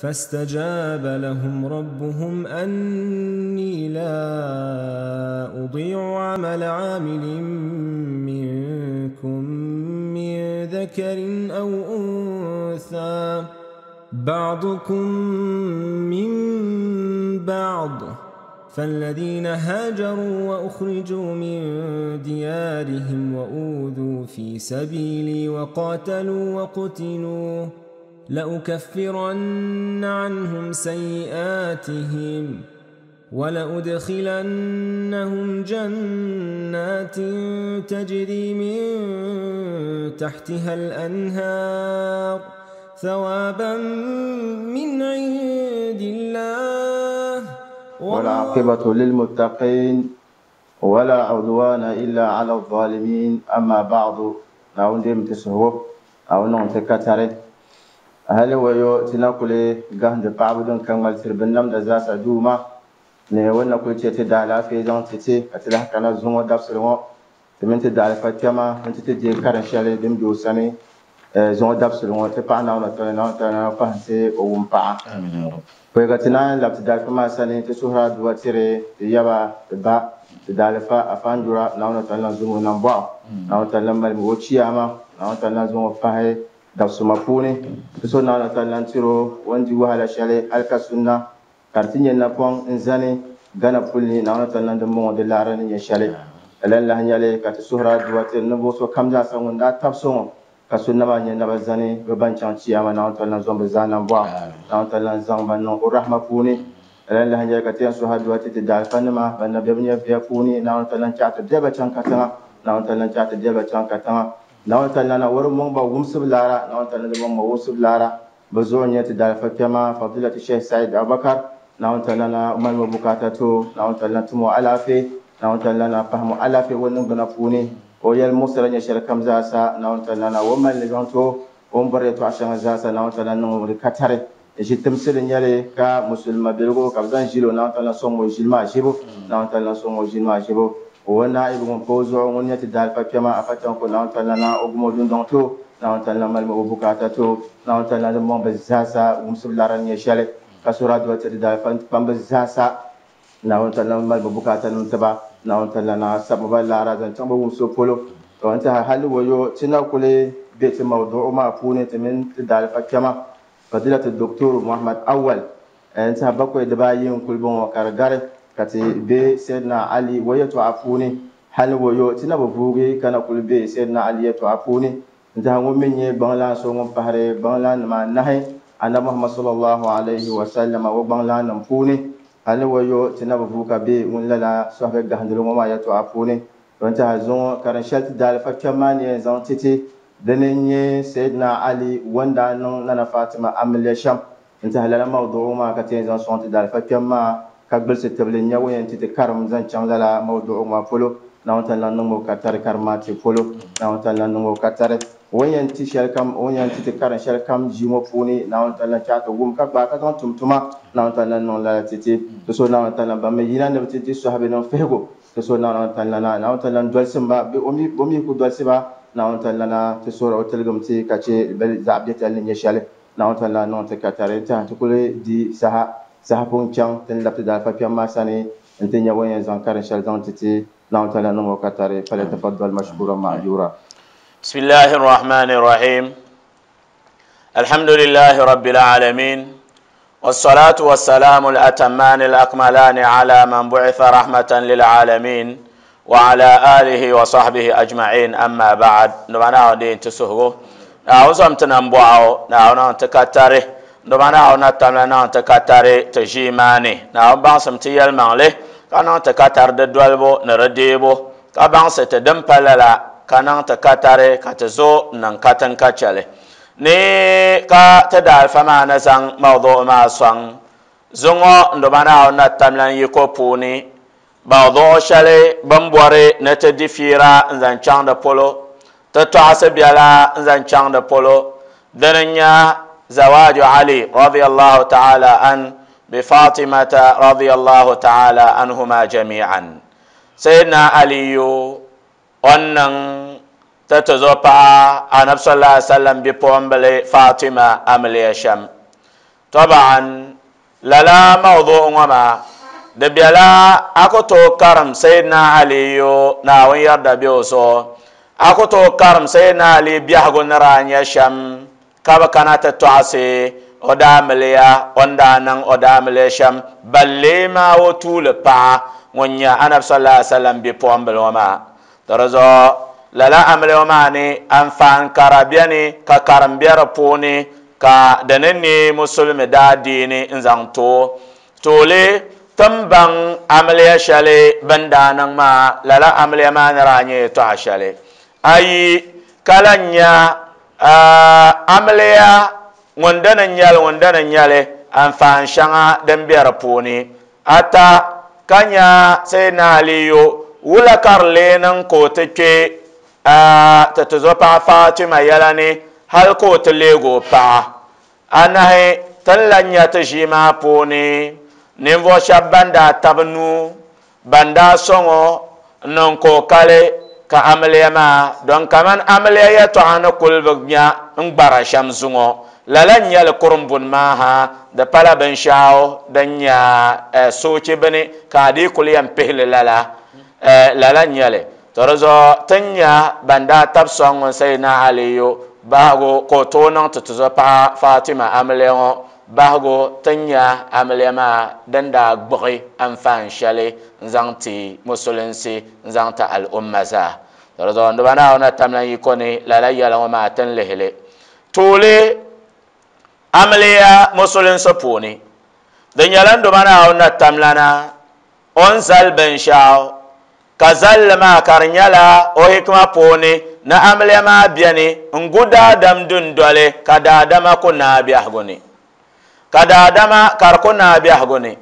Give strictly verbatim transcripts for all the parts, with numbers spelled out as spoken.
فاستجاب لهم ربهم أني لا أضيع عمل عامل منكم من ذكر أو أنثى بعضكم من بعض فالذين هاجروا وأخرجوا من ديارهم وأوذوا في سبيلي وقاتلوا وقتلوا لأكفرن عنهم سيئاتهم ولأدخلنهم جنات تجري من تحتها الأنهار ثوابا من عند الله. والعاقبة للمتقين ولا عدوان إلا على الظالمين. أما بعد، نعود متسهو أو نعتكتره هل هو تناكل جهد بعبد كمال سربنم دزاس دوما نيونا كل شيء تدعى في زون تتي أتلاح كنا زوم دبسلوا تمن تدعى فاتما من تتجي كارشالي دم جوساني زوم دبسلوا تبعنا ونتنا ونتنا فهنسي ومبع. آمين يا رب. ويقتنا لابتدعى فما سنة تسهرة دواتري يبا تبع تدعى فا أفندرا نونتنا زوم نبع نونتنا مالموتشي أما نونتنا زوم فهي dabsuma puuni so naawuni taala n-tiri o o ni di wahala shɛli hali ka sunna ka di ti nyɛ napɔŋ n-zani Gana puli ni naawuni taala din bɔŋɔ di laɣiri ni nyɛ shɛli. Lala lahi nyɛli ka ti suhuri aduwa tiri ninvuɣ so kam zaasa ŋun daa tabi so ŋɔ ka sunna maa nyɛ naba zani bɛ ban chaŋ chiyaama naawuni taala n-zaŋ bɛ zaa nambɔɣu naawuni taala n-zaŋ ba niŋ o rahma puuni. Lala lahi nyɛli ka ti yɛn suhi aduwa ti ti daalifanima ban na be bɛ nyɛviya puuni naawuni taala n-chaɣi ti bɛ ba chaŋ katiŋa naawuni taala n-chaɣi ti bɛ ba chaŋ katiŋa naawuni taala na wari mɔŋ ba wumsibu laara naawuni taala di mɔŋ ba wumsibu laara bɛ zuɣu nyɛ ti daalifa kpɛma Fadilati Sheikh Said Abubakar naawuni taala na malimi bukaata to naawuni taala na tumo alaafee naawuni taala na pahimu alaafee o niŋgbuna puuni o yɛli muɣisira nyɛ shɛli kam zaasa naawuni taala na o mali li zaŋ ti o o ni bɔri yɛltɔɣa shɛŋa zaasa naawuni taala niŋ di katari ʒi timsili nyɛli ka musulima biligu ka bɛ zaŋ ʒili o naawuni taala sɔŋ o ʒili maa ʒibu naawuni taala sɔŋ o ʒili maa ʒibu o naibu ŋun pa o zuɣu ŋun nyɛ ti daalifa kpɛma afa chaŋ ko naawuni taala na o gumo dundɔŋ to naawuni taala malimi o bukaata to naawuni taala din mɔŋ bɛ zaasa wumsibu laara ni nyɛ shɛli ka sura aduwa ti ti daalifa kpambi zaasa naawuni taala mali bɛ bukaata nim tiba naawuni taala na sabi ba laara zaŋ chaŋ bɛ wumsibu polo. To n tiɛha hali wayo ti na kuli be ti mawduɣu maa puuni ti mini ti daalifa kpɛma Fadilati Doctor Muhammad Awal n tiɛha bakwai dibaayi n kuli bɔŋɔ ka di gari ka ti be Sayyidina Ali wa yɛltɔɣa puuni hali wayo ti na bi vuugi ka na kuli be Sayyidina Ali yɛltɔɣa puuni n tiɛha ŋun mi nyɛ gbaŋlan so ŋun pahiri gbaŋlan nima anahi Annabi Muhammad sallallahu alayhi wa sallam wa gbaŋlan nim puuni hali wayo ti na bi vuugi ka be ŋun lala sɔhibi gahindili ŋɔ maa yɛltɔɣa puuni. N tiɛha zuŋɔ karin shɛli ti daalifa kpɛm maa ni yɛn zaŋ ti ti dini n-nyɛ Sayyidina Ali wanda niŋ Nana Fatima amiliya shɛm n tiɛha lala mawduɣu maa ka ti yɛn zaŋ sɔŋ ti daalifa kpɛm maa ka gbilisi tibili n-nyɛ o yɛn ti ti karim zaŋ chaŋ lala mawduɣu maa polo naawuni taala niŋ o ka tari karim maa ti polo naawuni taala niŋ o ka tari o yɛn ti shɛli kam o yɛn ti ti karim shɛli kam ʒii ŋɔ puuni naawuni taala chaɣi ti wum ka gbaai ka zaŋ tum tuma naawuni taala niŋ lala ti ti ti so naawuni taala ban mi yina ni bi ti di sɔhibi niŋ fihigu ti so naawuni taala na naawuni taala n-dolisi ba o mi ku dolisi ba naawuni taala na ti suhuri o tiligim ti ka che bɛ zaɣ biɛtali ni nyɛ shɛli naawuni taala niŋ ti ka tari n-tiɛha ti kuli di saha saha pun chaŋ ti ni labi ti daalifa kpɛm maa sani n-ti nyɛ o yɛn zaŋ karin shɛli zaŋ ti ti naawuni taala niŋ o ka tari falyatafaddal mashkuran ma'jura. Bismillahi rahmani rahim. Alhamdulillahi rabbil alamin. والصلاة والسلام الأتمان الأكملان على من بعث رحمة للعالمين وعلى آله وصحبه أجمعين. أما بعد، نبانا دين تسهو نعوزم تنبوعو نعونا تكتره نبانا نتمنى تكتره تجيماني نعوم بانسم تيال مالي كان تكتر ددولبو نرديبو كبانس تدمبللا كان تكتره كتزو ننكتن كتشلي ni ka ti daalifa maa ni zaŋ mawduɣu maa sɔŋ zuŋɔ ndobana na tamlan yiko puuni mawduɣu shɛli bin bɔri ni ti di fiira n zaŋ chaŋ di polo ti tɔɣisi biɛla n zaŋ chaŋ di polo dini n-nyɛ zawaju Ali radiyallahu ta'ala an bi Fatimata radiyallahu ta'ala anhuma jami'an. Sayyidina Aliyu o niŋ ti zo paɣa Anabi sallallahu alaihi wasallam bipuɣimbili Fatima amiliya shɛm. Taban lala mawdu ŋɔ maa di bela a ku tooi karim Sayyidina Aliyu Naawuni yarda be o zuɣu a ku tooi karim Sayyidina Ali biɛhigu ni daa nyɛ shɛm ka bi kana ti tɔɣisi o daamiliya o ni daa niŋ o daamiliya shɛm ballee maa o tuuli paɣa ŋun nyɛ Anabi sallallahu alaihi wasallam bipuɣimbila ŋɔ maa to di zuɣu lala amiliya ŋɔ maa ni anfaan kara beni ka karim be di puuni ka di ni neei musulimi daadiini n zaŋ too tooli tin baŋ amiliya shɛli bin daa niŋ maa lala amiliya maa ni daa nyɛ yɛltɔɣa shɛli ayi ka lan nya amiliya ŋun dini n nyɛli ŋun dini n nyɛli anfaan shɛŋa din be di puuni ata ka nya Sayyidina Aliyu wula ka di lee niŋ ka o ti kpe ti tuzopaɣa Fatima yɛla ni hali ka o ti leegi o paɣa anahi tin lan nya ti ʒii maa puuni ninvuɣu shɛba ban daa tabi nuu ban daa sɔŋɔ n niŋ ka o kali ka amiliya maa don kaman amiliya yɛltɔɣa ni kuli bi nya n gbara shɛm zuŋɔ lala n nyɛli kurimbuni maa ha di pala binshaɣu din nyɛ soochi bini ka a dii kuli yɛn pihili lala lala n nyɛli to di zuɣu ti nya ban daa tabi sɔŋ ŋun Sayyidina Aliyu bahigu ka o tooi niŋ ti tuzopaɣa Fatima amiliya ŋɔ bahigu ti nya amiliya maa din daa gbuɣi anfaan shɛli n zaŋ ti musulinsi n zaŋ ti al'umma zaa to di zuɣu nduba Naawuni tamla yiko ni lala yɛla ŋɔ maa tin lihili tuuli amiliya musulinsi puuni di nyɛla nduba Naawuni tamlana o ni zali binshaɣu ka zalli maa ka di nyɛla o hikima puuni ni amiliya maa beni n gu daadam dundoli ka daadama ku naai biɛhigu ni ka daadama ka di ku naai biɛhigu ni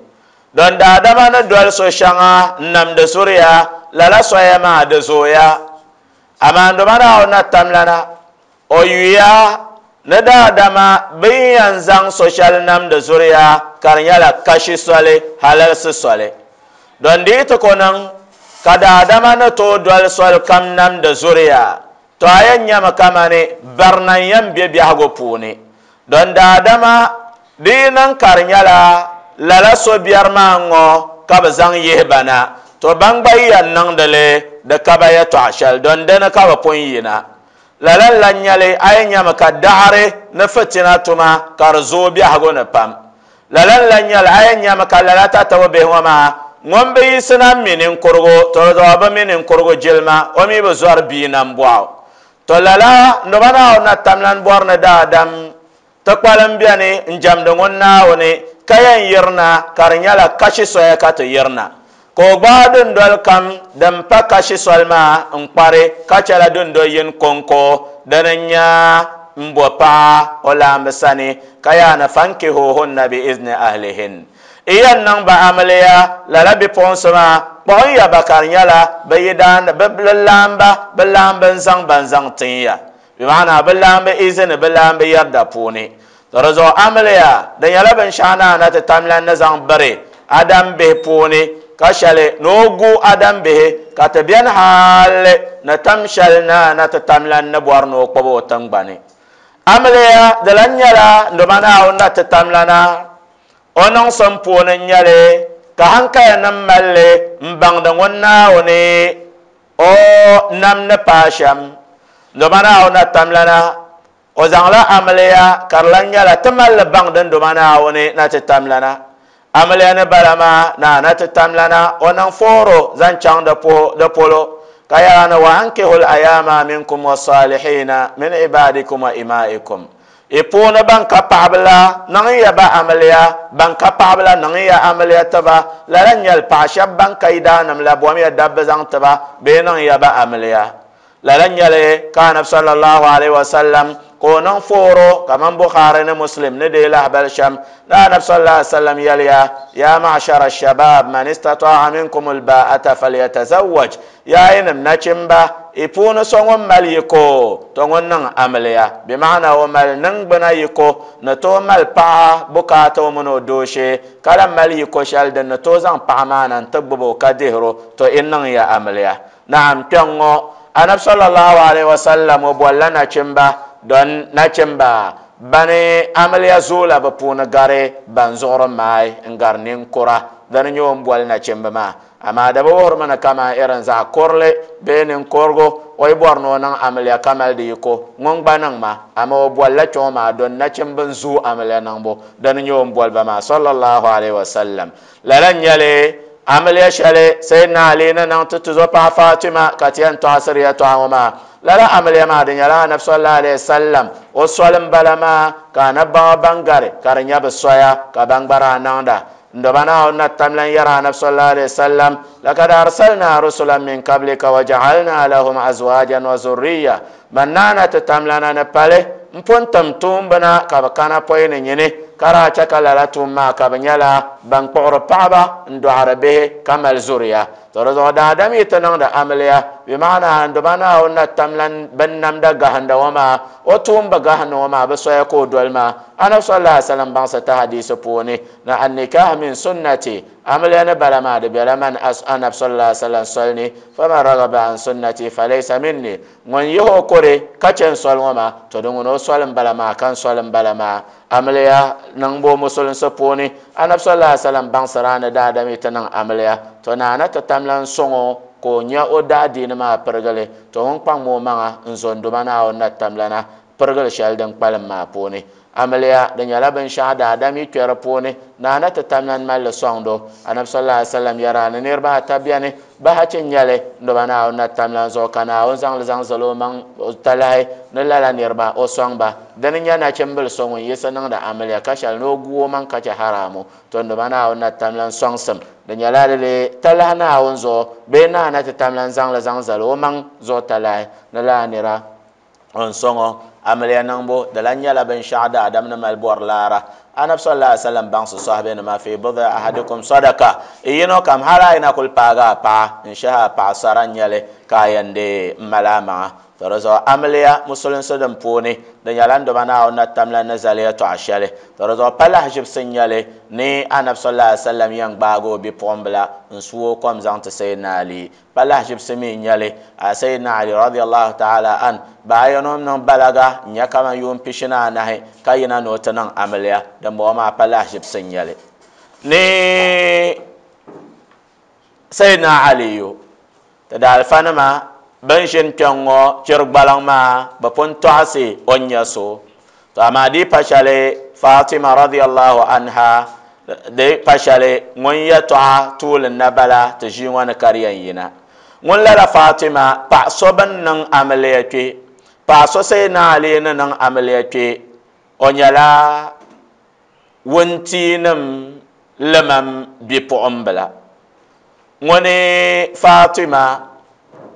don daadama ni doli so shɛŋa n namdi zuriya lala soya maa di zooya amaa nduba Naawuni tamlana o yuya ni daadama bin yɛn zaŋ so shɛli namdi zuriya ka di nyɛla kashi soli halalsi soli don di yi ti ku niŋ ka daadama ni tooi doli soli kam namdi zuriya to a yɛn nyɛmi kamani barina n yɛn be biɛhigu puuni don daadama di yi niŋ ka di nyɛla lala so biɛri maa ŋɔ ka bi zaŋ yihi ba na to ban gba yɛn niŋdili di ka ba yɛltɔɣa shɛli don dini ka bi pun yina lala n lan nyɛli a yɛn nyɛmi ka daɣari ni fitina tuma ka di zooi biɛhigu ni pam lala n lan nyɛli a yɛn nyɛmi ka lala tatabo bihi ŋɔ maa ŋun bi yiɣisina mi ninkurigu to di zuɣu bi mi ninkurigu jilima o mi bi zɔri bia nambɔɣu to lala nduba Naawuni tamlan bɔri ni daadam ti kpalim beni n jɛmdi ŋun Naawuni ka yɛn yirina ka di nyɛla kashi soya ka ti yirina ka o gbaai dundoli kam din pa kashi soli maa n kpari ka chɛla dundoli yini konko dini n nyɛ n bo paɣa o laambi sani ka yaani fankihuhunna bi izni ahlihin i yɛn niŋ ba amiliya lala bipuɣinsi maa kpuɣin ya ba ka di nyɛla bi yidaan bi laamba bi laambi n zaŋ ban zaŋ tin ya bi maana bi laambi izini bi laambi yarda puuni to di zuɣu amiliya di nyɛla binshaɣu naa na ti tamlan ni zaŋ biri adam bihi puuni ka shɛli ni o gu adam bihi ka ti beni hali ni tam shɛli na na ti tamlan ni bɔri ni o kpubi o tingbani amiliya di lan nyɛla nduba Naawuni na ti tamlana o niŋsim puuni n nyɛli ka hankaya nim malli n baŋdi ŋun Naawuni o nam ni paai shɛm nduba Naawuni na tamlana o zaŋla amiliya ka di lan nyɛla ti malli baŋdi nduba Naawuni na ti tamlana amiliya ni bala maa na na ti tamlana o niŋ fooro zaŋ chaŋ di polo ka yaani wa ankihul ayama minkum wasalihina min ibadikum wa imaikum i puuni ban ka paɣaba la niŋ ya ba amiliya ban ka paɣaba la niŋ ya amiliya tiba lala n nyɛli paɣa shɛba ban ka yidaanim la bom ya dabba zaŋ tiba bee niŋ ya ba amiliya lala n nyɛli ka anabi sallallahu alaihi wasallam ka o niŋ fooro kaman Bukhari ni Muslim ni dee lahabali shɛm ni anabi sallallahu alaihi wasallam yɛliya ya ma'shara shabab man istata'a minkum alba'ata falyatazawwaj ya yinim nachimba i puuni so ŋun mali yiko to ŋun niŋ amiliya bi maana o mali niŋgbuna yiko ni tooi mali paɣa bukaata o mini o dooshee ka lan mali yiko shɛli din ni tooi zaŋ paɣa maa na n-ti gbubi o ka dihiro to i niŋ ya amiliya naam kpɛŋ ŋɔ anabi sallallahu alaihi wasallam o bolila nachimba don nachimba Bani amiliya zoola bi puuni gari ban zuɣuri maai n gari ninkura dini nyɛ o ni boli nachimbi maa amaa di bi wuhirimi ni kamani irin zaɣ kurili bee ninkurigu o yi bɔri ni o niŋ amiliya ka mali di yiko ŋun gba niŋ ma amaa o bolila kpɛŋɔ maa don nachimbi n zooi amiliya niŋbu dini nyɛ o ni boli ba maa sallallahu alaihi wasallam lala n nyɛli amiliya shɛli Sayyidina Ali ni niŋ ti tuzo paɣa Fatima ka ti yɛn tɔɣisiri yɛltɔɣa ŋɔ maa lala amiliya maa di nyɛla anabi sallallahu alaihi wasallam o soli n bala maa ka anabi baŋa ban gari ka di nyɛ bi soya ka ban gba daa niŋda ndoba Naawuni na tam lan yɛra anabi sallallahu alaihi wasallam lakad arsalna rusulan min qablika wa ja'alna lahum azwajan wa zurriya man naana ti tamlana ni pali n pun tim tuumbina ka bi kana pɔi ni nyini ka daa chɛ ka lala tuum maa ka bi nyɛla ban kpuɣiri paɣaba n dɔɣiri bihi ka mali zuriya to di zuɣu daadam yi ti niŋdi amiliya bi maana ndoba Naawuni na tam lan bin namda gahinda ŋɔ maa o tuumbi gahinda ŋɔ maa bi soya ka o doli maa anabi sallallahu alaihi wasallam baŋsi ti hadisi puuni na annikah min sunnati amiliya ni bala maa di bela man anabi sallallahu alaihi wasallam soli ni faman ragaba an sunnati falaysa minni ŋun yihi o kore ka chɛ n soli ŋɔ maa to di ŋuni o soli n bala maa ka n soli n bala maa amiliya niŋbu musulinsi puuni anabi sallallahu alaihi wasallam baŋsira ni daadam yi ti niŋ amiliya to naana ti tam lan sɔŋɔ ka o nya o daadiini maa pirigili to ŋun kpaŋmi o maŋa n zo n duma Naawuni na tamlana pirigili shɛli din kpalim maa puuni amiliya di nyɛla binshaɣu daadam yi kpɛ di puuni naana ti tamlan malli sɔŋdo anabi sallallahu alaihi wasallam yɛra ni niriba ata biɛni bahachi n nyɛli n duma Naawuni na tamlan zuɣu ka Naawuni zaŋli zaŋ zali o maŋ talahi ni lala niriba o sɔŋ ba dini nyɛ nachimbili so ŋun yiɣisi niŋdi amiliya ka shɛli ni o gu o maŋ ka chɛ haramu to n duma Naawuni na tamlan sɔŋsim di nyɛla di talahi Naawuni zuɣu bee naana ti tamlan zaŋli zaŋ zali o maŋ zuɣu talahi ni lala nira n sɔŋɔ amiliya niŋbu di lan nyɛla binshaɣu daadam ni mali bɔri laara anabi sallallahu alaihi wasallam baŋsi sɔhibe-nima fi bid'i ahadikum sadaka yino kam hali a yi na kuli paagi a paɣa n shɛhi a paɣa sara n nyɛli ka a yɛn dee n mali a maŋa to di zuɣu amiliya musulinsi din puuni di nyɛla n doma Naawuni na tamla ni zali yɛltɔɣa shɛli to di zuɣu pa lahaʒibisi n nyɛli ni anabi sallallahu alaihi wasallam yɛn gbaagi o bipuɣimbila n su o kom zaŋ ti Sayyidina Ali pa lahaʒibisi mi n nyɛli a Sayyidina Ali radiyallahu ta'ala an baa yino niŋ balaga n nyɛ kaman yuun pishi ni anahi ka yina ni o ti niŋ amiliya din bɔŋɔ maa pa lahaʒibisi n nyɛli ni Sayyidina Aliyu ti daalifanima bin ʒini kpɛŋ ŋɔ chiri gbaliŋ maa bi pun tɔɣisi o ni nyɛ so to amaa di pa shɛli Fatima radiyallahu anha di pa shɛli ŋun yɛltɔɣa tuuli na bala ti ʒii ŋɔ ni ka di yɛn yina ŋun lala Fatima paɣa so bin niŋ amiliya kpɛ paɣa so Sayyidina Ali ni niŋ amiliya kpɛ o nyɛla wuntiinim limam bipuɣimbila ŋuni Fatima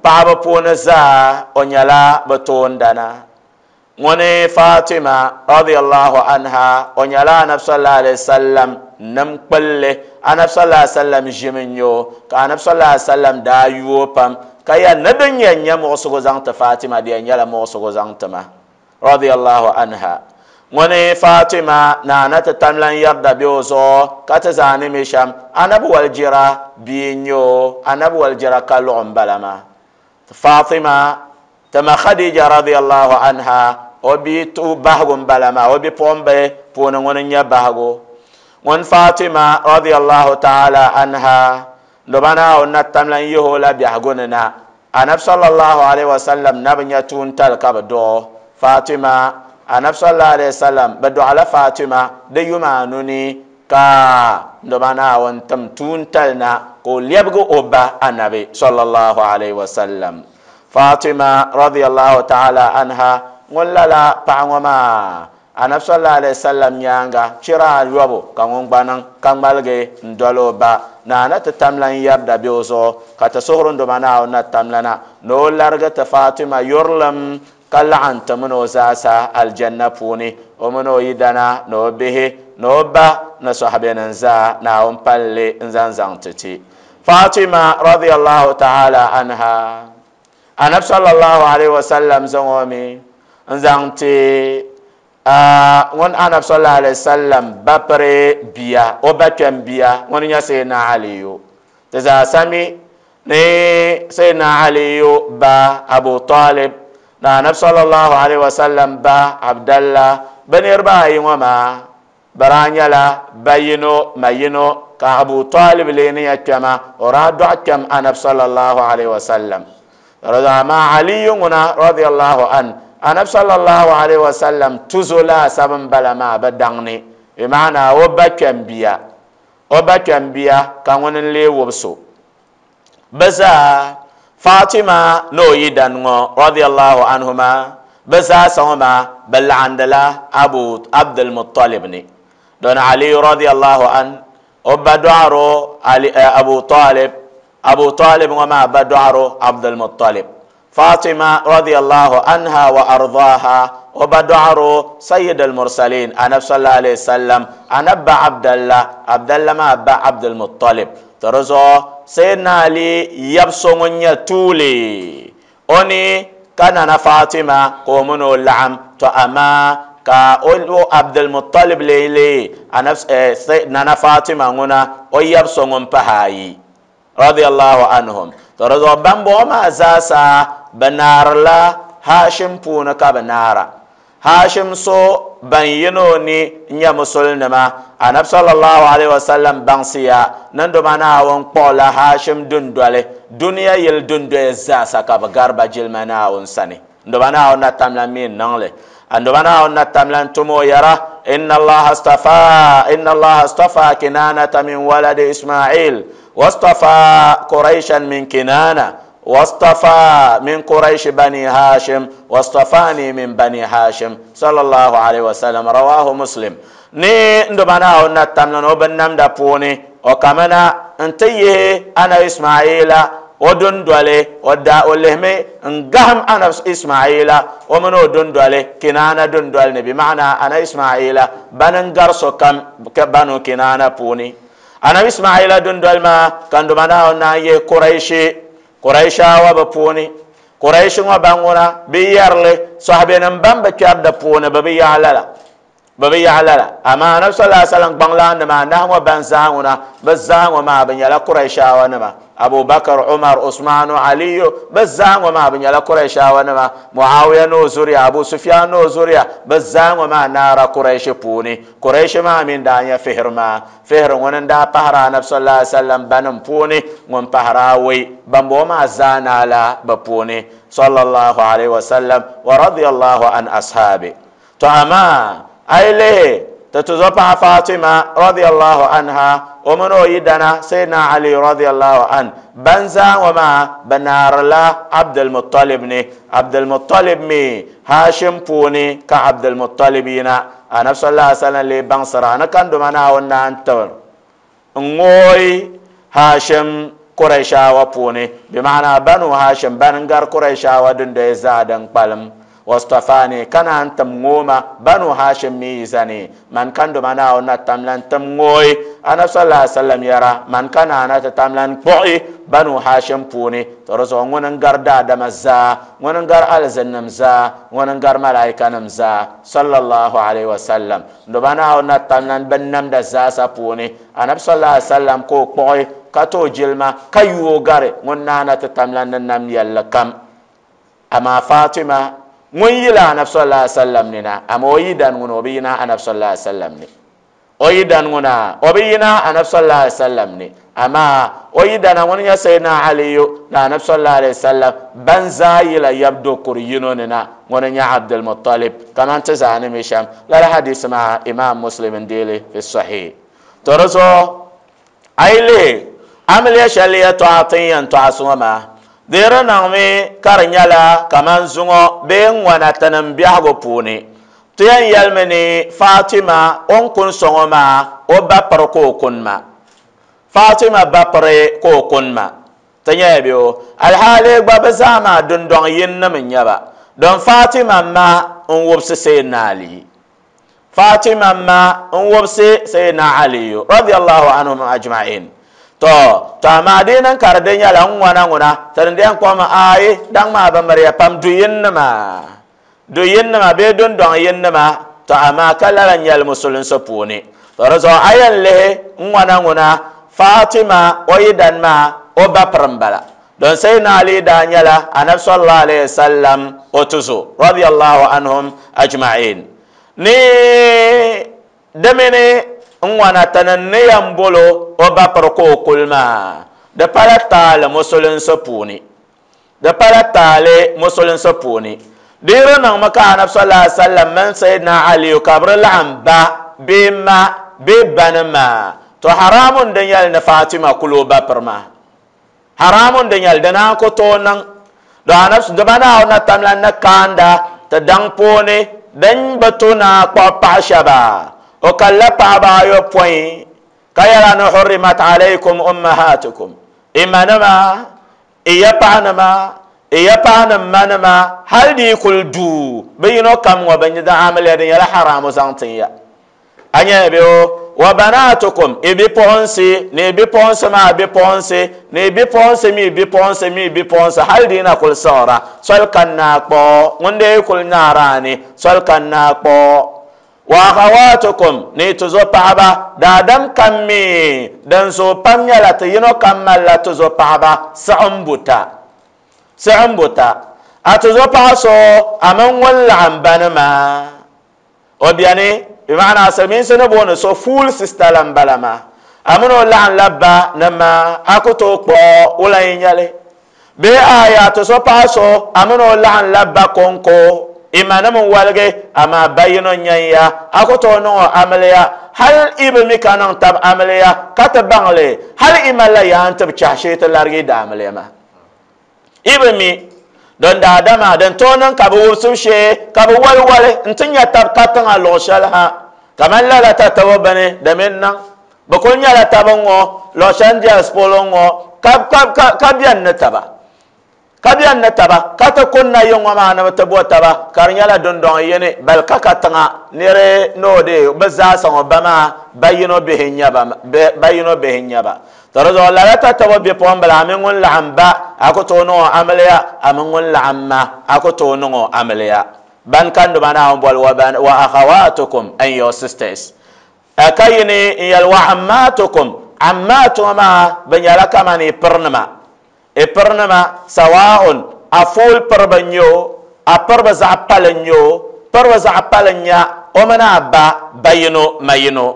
paɣaba puuni zaa o nyɛla bi toondana ŋuni Fatima radiyallahu anha o nyɛla anabi sallallahu alaihi wasallam nim kpilli anabi sallallahu alaihi wasallam ʒimi n nyɛ o ka anabi sallallahu alaihi wasallam daa yuo pam ka yɛli ni din yɛn nyɛ muɣusigu zaŋ ti Fatima di yɛn nyɛla muɣusigu zaŋ ti ma radiyallahu anha ŋuni Fatima naana ti tamlan yɛrida bɛ o zuɣu ka ti zaani mi shɛm anabi walijira bia n nyɛ o anabi walijira ka luɣu n bala maa Fatima tima Khadija radiyallahu anha o bi tu bahigu n bala maa o bipuɣimbili puuni ŋuni n nyɛ bahigu ŋun Fatima radiyallahu ta'ala anha doba Naawuni na tamlan yihi o la biɛhigu ni na anabi sallallahu alaihi wasallam na bi nyɛ tuuntali ka bi dɔɣi Fatima anabi sallallahu alaihi wasallam bi dɔɣila Fatima di yuma anu ni ka doba Naawuni tim tuuntali na ka o lɛbigi o ba anabi sallallahu alaihi wasallam Fatima radiyallahu ta'ala anha ŋun lala paɣa ŋɔ maa anabi sallallahu alaihi wasallam nyaanga chira ayɔbu ka ŋun gba niŋ ka ŋmaligi n doli o ba naana ti tamlan yɛrida bɛ o zuɣu ka ti suhuri n doma Naawuni na tamlana ni o larigi ti Fatima yurilim ka laɣim ti mini o zaasa aljanna puuni o mini o yidana ni o bihi ni o ba ni sɔhibenim zaa Naawuni palli n zaŋ zaŋ ti ti Fatima radiyallahu ta'ala anha anabi sallallahu alaihi wasallam zaŋ o mi n zaŋ ti ŋun anabi sallallahu alaihi wasallam bapiri bia o ba kpɛm bia ŋun nyɛ Sayyidina Aliyu ti zaa sami ni Sayyidina Aliyu ba Abu Talib na anabi sallallahu alaihi wasallam ba Abdallah Bɛ niriba ayi ŋɔ maa bɛ daa nyɛla ba yino ma yino ka Abu Talib lee ni ya kpɛma o daa dɔɣi kpɛm Anabi sallallahu alaihi wasallam. Amaa Aliyu ŋuna radiyallahu an Anabi sallallahu alaihi wasallam tuzo laasabu n-bala maa bɛ daŋ ni bi maana o ba kpɛm bia o ba kpɛm bia ka ŋuni n-lee wubso bɛ zaa Fatima ni o yidan ŋɔ radiyallahu anhuma bɛ zaa sa ŋɔ maa bɛ laɣindila Abu Abdul Muttalib ni don Ali radiyallahu an o ba dɔɣiro Ali Abu Talib Abu Talib ŋɔ maa ba dɔɣiro Abdul Muttalib Fatima radiyallahu anha wa ardaha o ba dɔɣiro Sayyid al-Mursalin Anabi sallallahu alayhi wasallam Anabi ba Abdallah Abdallah maa ba Abdul Muttalib to di zuɣu Sayyidina Ali yab so ŋun nyɛ tuuli o ni ka Nana Fatima ka o mini o laɣim to amaa ka o Abdul Muttalib lee lee Nana Fatima ŋuna o yab so ŋun pahi ayi radiyallahu anhum to di zuɣu bambɔŋɔ maa zaasa bɛ naarila Hashim puuni ka bɛ naara Hashim so ban yino ni n-nyɛ musulinima Anabi sallallahu alaihi wasallam baŋsiya nindoma Naawuni kpuɣila Hashim dundoli duniya yili dundoya zaasa ka bɛ gari ba jilima Naawuni sani ndoma Naawuni na tamla mi n-niŋli ndoma Naawuni na tamla n-tum o yɛra inna Allaha astafa inna Allaha astafa Kinanata min waladi Ismail wastafa Quraishan min Kinana واصطفى من قريش بني هاشم واصطفاني من بني هاشم صلى الله عليه وسلم رواه مسلم ni ndobana na tamna no ban da puni o kamana ntiye ana Ismaila o dundole o da o lehme ngaham ana Ismaila o mano dundole Kinana dundole ne bi maana ana Ismaila banan garso kam ka banu Kinana puni ana Ismaila dundole ma kan ndobana na ye Quraishi Quraishawa bɛ puuni Quraishi ŋɔ ban ŋuna bɛ yɛrili sahabenim ban bi kpɛri di puuni bɛ bi yaɣi lala bɛ bi yaɣi lala amaa Anabi sallallahu alaihi wasallam gbaŋlaanima anahi ŋɔ ban zaa ŋuna bɛ zaa ŋɔ maa bɛ nyɛla Quraishawa nima Abu Bakr Umar Usmanu Aliyu bɛ zaa ŋɔ maa bɛ nyɛla Quraishawa nima Muawiya ni o zuriya Abu Sufyan ni o zuriya bɛ zaa ŋɔ maa naara Quraishi puuni Quraishi maa min daa nyɛ Fihr maa Fihr ŋuni n daa pahiri Anabi sallallahu alaihi wasallam banim puuni ŋun pahiri awɔi bambɔŋɔ maa zaa naala bɛ puuni sallallahu alaihi wasallam wa radiyallahu an ashabi to amaa a yi lihi ti tuzo paɣa Fatima radiyallahu anha o mini o yidana Sayyidina Ali radiyallahu an ban zaa ŋɔ maa bɛ naarila Abdul Muttalib ni Abdul Muttalib mi Hashim puuni ka Abdul Muttalib yina Anabi sallallahu alaihi wasallam lee baŋsira ni kandoma Naawuni naan tibir n-ŋooi Hashim Quraishawa puuni bi maana Banu Hashim ban n-gari Quraishawa dundoya zaa din kpalim wastafani kana antum ngoma Banu Hashim mizani man kan do mana ona tamlan tam ngoi ana sallallahu alaihi wasallam yara man kana ana tamlan kpoi Banu Hashim puni to rozo ngon ngar da da mazza ngon ngar alzannam za ngon ngar malaika nam za sallallahu alaihi wasallam do bana ona tamlan bannam da za sa puni ana sallallahu alaihi wasallam ko kpoi ka to jilma kayuo gare ngon nana tamlan nam yalla kam ama Fatima ŋun yila Anabi sallallahu alaihi wasallam ni na ama o yidan ŋuna o bi yina Anabi sallallahu alaihi wasallam ni o yidan ŋuna o bi yina Anabi sallallahu alaihi wasallam ni ama o yidana ŋun nyɛ Sayyidina Aliyu na Anabi sallallahu alaihi wasallam ban zaa yila yabdo kuri yino ni na ŋuni nyɛ Abdul Muttalib kaman ti zaa ni mi shɛm lala hadisi maa Imam Muslim n deeli fi sahih to di zuɣu a yi lihi amiliya shɛli yɛltɔɣa ti ni yɛn tɔɣisi ŋɔ maa di niŋmi ka di nyɛla kaman zuŋɔ bee ŋwana tinim biɛhigu puuni ti yɛn yɛlimi ni Fatima o ni kuni so ŋɔ maa o ba piri ka o kuni ma Fatima ba piri ka o kuni ma ti nyɛla bɛ o alhaali gba bɛ zaa maa dundɔŋ yini nim n-nyɛ ba don Fatima ma n wubisi Sayyidina Ali Fatima ma n wubisi Sayyidina Ali radiyallahu anhum ajma'in to to amaa di niŋ ka di di nyɛla n ŋwana ŋuna ti din yɛn kpɔŋ ayi daŋ maa bi miriya pam du yinnima du yinnima bee dundɔŋ yinnima to amaa ka lala nyɛli musulinsi puuni to di zuɣu a yɛn lihi n ŋwana ŋuna Fatima o yidan maa o ba piri n bala don Sayyidina Ali daa nyɛla Anabi sallallahu alaihi wasallam o tuzo radiyallahu anhum ajma'in Ni dimini n ŋwana tani ni yɛn bolo o ba piri ka o kuli maa di pala taali musulinsi puuni di pala taali musulinsi puuni di yi di niŋmi ka anabi sallallahu alaihi wasallam mini Sayyidina Aliyu ka bi di laɣim ba bee ma bee bani maa to haramun din nyɛli ni Fatima kuli o ba piri maa haramun din nyɛli di naan ku tooi niŋ do anabi di ba Naawuni na tamla ni kaanda ti daŋ puuni din bi to naa kpuɣi paɣa shɛba o kalla paɣaba ayopɔin ka yɛla ni hurrimat alaykum ummahatukum imanima iya paɣanima iya paɣanim manima hali di kuli duu bi yino kam ŋɔ bi da amiliya din nyɛla haramu zaŋ tin ya a nyɛ bɛ o wa banatukum i bipuɣunsi ni i bipuɣunsi maa bipuɣunsi ni i bipuɣunsi mi bipuɣunsi mi bipuɣunsi hali di na kuli siɣira soli ka naa kpuɣi ŋun dee kuli naara ni soli ka naa kpuɣi wa akhawatukum ni tuzo paɣaba daadam kam mi din zooi pam nyɛla ti yino kam malila tuzo paɣaba siɣim buta siɣim buta a tuzo paɣa so a mini ŋun laɣim bani maa o biɛni bi maana silimiinsi ni booni so full sister la n bala maa a mini o laɣim la ba ni ma a ku tooi kpuɣi wula n nyɛli bee aya tuzo paɣa so a mini o laɣim la ba konko imanim n waligi amaa ba yino n-nyɛ ya a ku tooi niŋ o amiliya hali i bi mi ka niŋ tab amiliya ka ti baŋli hali i malila yaa n-ti bi chahi shee ti larigi da amiliya maa i bi mi don daadama din tooi niŋ ka bi wubisibu shee ka bi wali wali n-ti nya tab ka tiŋa luɣ shɛli ha kamani lala tatabo bini di mi niŋ bi kuli nyɛla tabi ŋɔ luɣ shɛli n-diɛlisi polo ŋɔ ka bɛni ni taba ka bɛni ni taba ka ti kunna yi ŋɔ maa ni bi ti bo taba ka di nyɛla dundɔŋ yini bali ka ka tiŋa niri ni o de bi zaasa ŋɔ ba maa ba yino bihi n-nyɛ ba yino bihi n-nyɛ ba to di zuɣu lala tatabo bipuɣimbila a mini ŋun laɣim ba a ku tooi niŋ o amiliya a mini ŋun laɣim ma a ku tooi niŋ o amiliya ban ka nduba Naawuni boli wa akhawatukum and your sisters ka yini n yɛli wa ammatukum ammatu ŋɔ maa bi nyɛla kamani pirinima i pirinima sawaun a fuul piriba n-nyɛ o a piriba zaɣ pali n-nyɛ o piriba zaɣ pali n-nya o mini a ba ba yino ma yino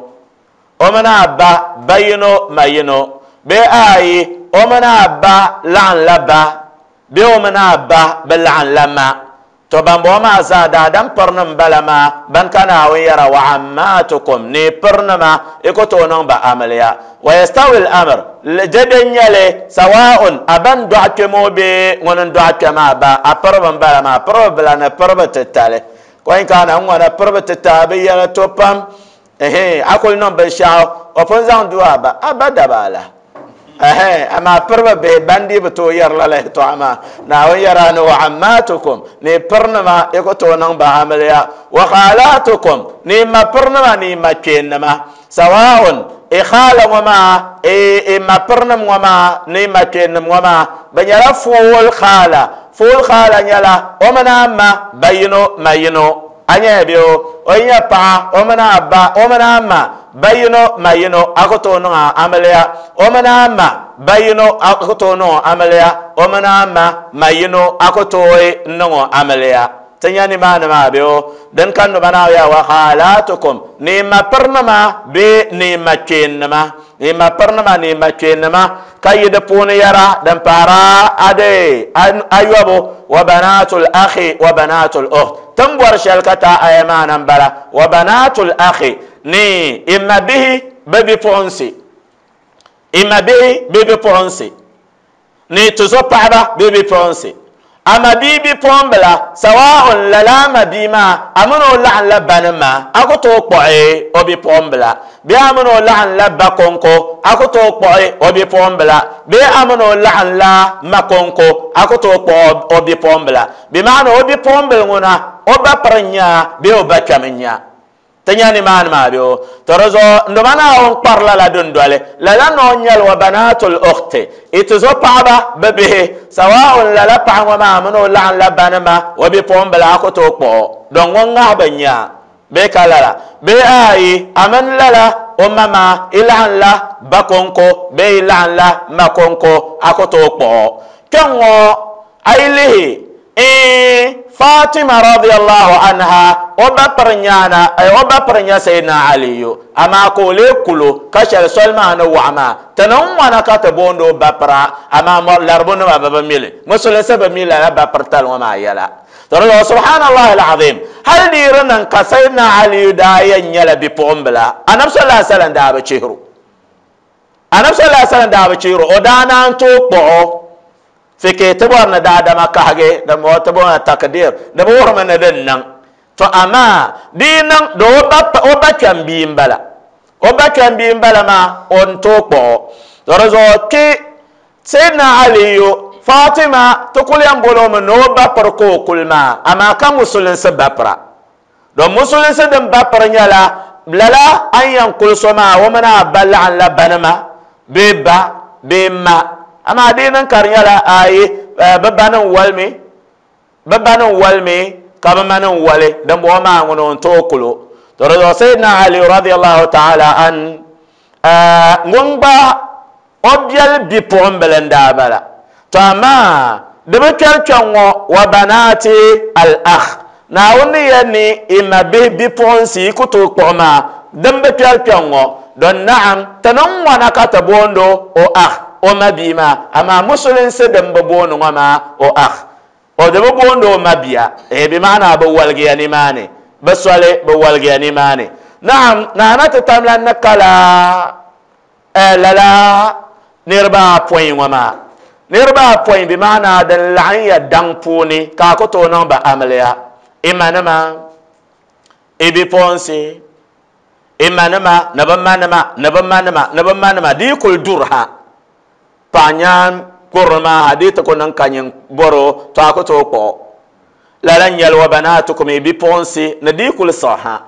o mini a ba ba yino ma yino bee ayi o mini a ba laɣim la ba bee o mini a ba bi laɣim la ma to bambɔŋɔ maa zaa daadam pirinim bala maa ban ka Naawuni yɛra wa ammatukum ni pirinima i ku tooi niŋ ba amiliya wa yastawi al-amr dede n-nyɛli sawaun a ban dɔɣi kpɛmo bee ŋuni n-dɔɣi kpɛ maa ba a piriba n-bala maa piriba bila ni piriba titali kɔin ka na ŋwana piriba titali bi yɛla to pam ehe a kuli niŋ binshaɣu o pun zaŋ du a ba a ba dabaala ehe amaa piriba bihi ban dii bi tooi yɛri lala yɛltɔɣa maa Naawuni yɛra ni wa ammatukum ni pirinima i ku tooi niŋ ba amiliya wa khalatukum ni ma pirinima ni ma kpeennima sawaun i khaala ŋɔ maa i ma pirinim ŋɔ maa ni ma kpeennim ŋɔ maa bi nyɛla fuul khaala fuul khaala nyɛla o mini a ma ba yino ma yino a nyɛ bɛ o o nyɛ paɣa o mini a ba o mini a ma ba yino ma yino a ku tooi niŋ a amiliya o mini a ma ba yino a ku tooi niŋ o amiliya o mini a ma ma yino a ku tooi niŋ o amiliya ti nya nimaani maa bɛ o din ka nuba naa ya wa khalatukum ni ma pirinima bee ni ma kpeennima ni ma pirinima ni ma kpeennima ka yi di puuni yɛra din paara ade ayɔbu wa banatul akhi wa banatul ukht tin bɔri shɛli ka taa aya maa na m-bala wa banatul akhi ni ima bihi bi bipuɣunsi ima bihi bi bipuɣunsi ni tuzo paɣaba bi bipuɣunsi ama bia bipuɣunbila sawaun lala ama bia maa a mini o laɣim la bani maa a ku tooi kpuɣi o bipuɣunbila bee a mini o laɣim la ba konko a ku tooi kpuɣi o bipuɣunbila bee a mini o laɣim la ma konko a ku tooi kpuɣi o bipuɣunbila bi maana o bipuɣunbili ŋuna o ba piri n-nya bee o ba kpɛm n-nya ti nya nimaani maa bɛ o to di zuɣu ndoma Naawuni kpari lala dundoli lala noo nyɛli wa banatul ukhti i ti zo paɣaba bi bihi sawaun lala paɣa ŋɔ maa mini o laɣim la banima o bipuɣimbila a ku tooi kpuɣi don ŋun ŋahi bi nya bee ka lala bee ayi a mini lala o ma maa i laɣim la ba konko bee i laɣim la ma konko a ku tooi kpuɣi kpɛŋ ŋɔ a yi lihi eh Fatima radiyallahu anha o ba parnyana ay o ba parnya sayyidina Aliyu ama ko le kulo ka shal solma na wama tanan wana ka ta bondo ba para ama larbu na ba ba mili musul saba mila la ba partal wa ma yala toro subhanallah alazim hal diran ka sayyidina Aliyu da yanyala bi pombla anab sallallahu alaihi wasallam da ba chihru anab sallallahu alaihi wasallam da ba chihru o dana to po fike tibor na daadama kahage da mo tibor na takdir da bo ma na den nan to ama di nan do ba o ba kan bi mbala o ba kan bi mbala ma on to ko do rezo ki sayyidina Aliyu Fatima to kulyam bolo mo no ba par ko kulma ama ka musulun se bapra do musulun se dem bapra nyala lala an yan kulsoma wa mana balla an la banama be ba be ma ama dinan karnyala ayi babanan walmi babanan walmi kabamanan wale dan bo ma ngono to kulo to razo sayyidina Ali radiyallahu ta'ala an ngomba obyal bi pombelenda bala to ama de be kyalkyanwo wa banati al akh na woni yani ima bi bi ponsi kuto koma dan be kyalkyanwo don na'am tanan wana ka tabondo o akh o mabima ama musulun se dan babono ma o akh o de babondo mabia e bi maana ba walgiya ni mane baswale ba walgiya ni mane na'am na na ta tamla nakala la la nirba point wama nirba point bi maana dan la'an dan puni ka ko to non ba amaliya imanama e bi ponse imanama nabamanama nabamanama nabamanama di kul durha panyan kurma hadith ko nan kanyin boro to ko to ko lalan yalwa banatukum bi ponsi na di kul saha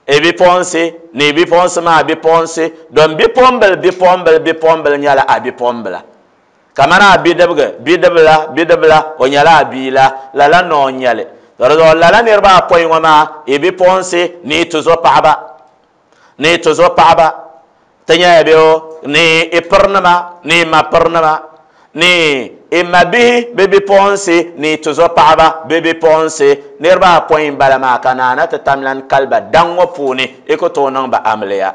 e bi ponsi ni bi ponsi ma bi ponsi don bi pombel bi pombel bi pombel nyala a bi pombela kamana bi debga bi debla bi debla o nyala bi la lalan no nyale do lalan irba poy ngoma e bi ponsi ni tuzo paaba ni tuzo paaba tanya bio ni ipernama ni mapernama ni imabi baby ponsi ni tuzo paaba baby ponsi nirba point balama kana na tamlan kalba dango puni iko to nan ba amliya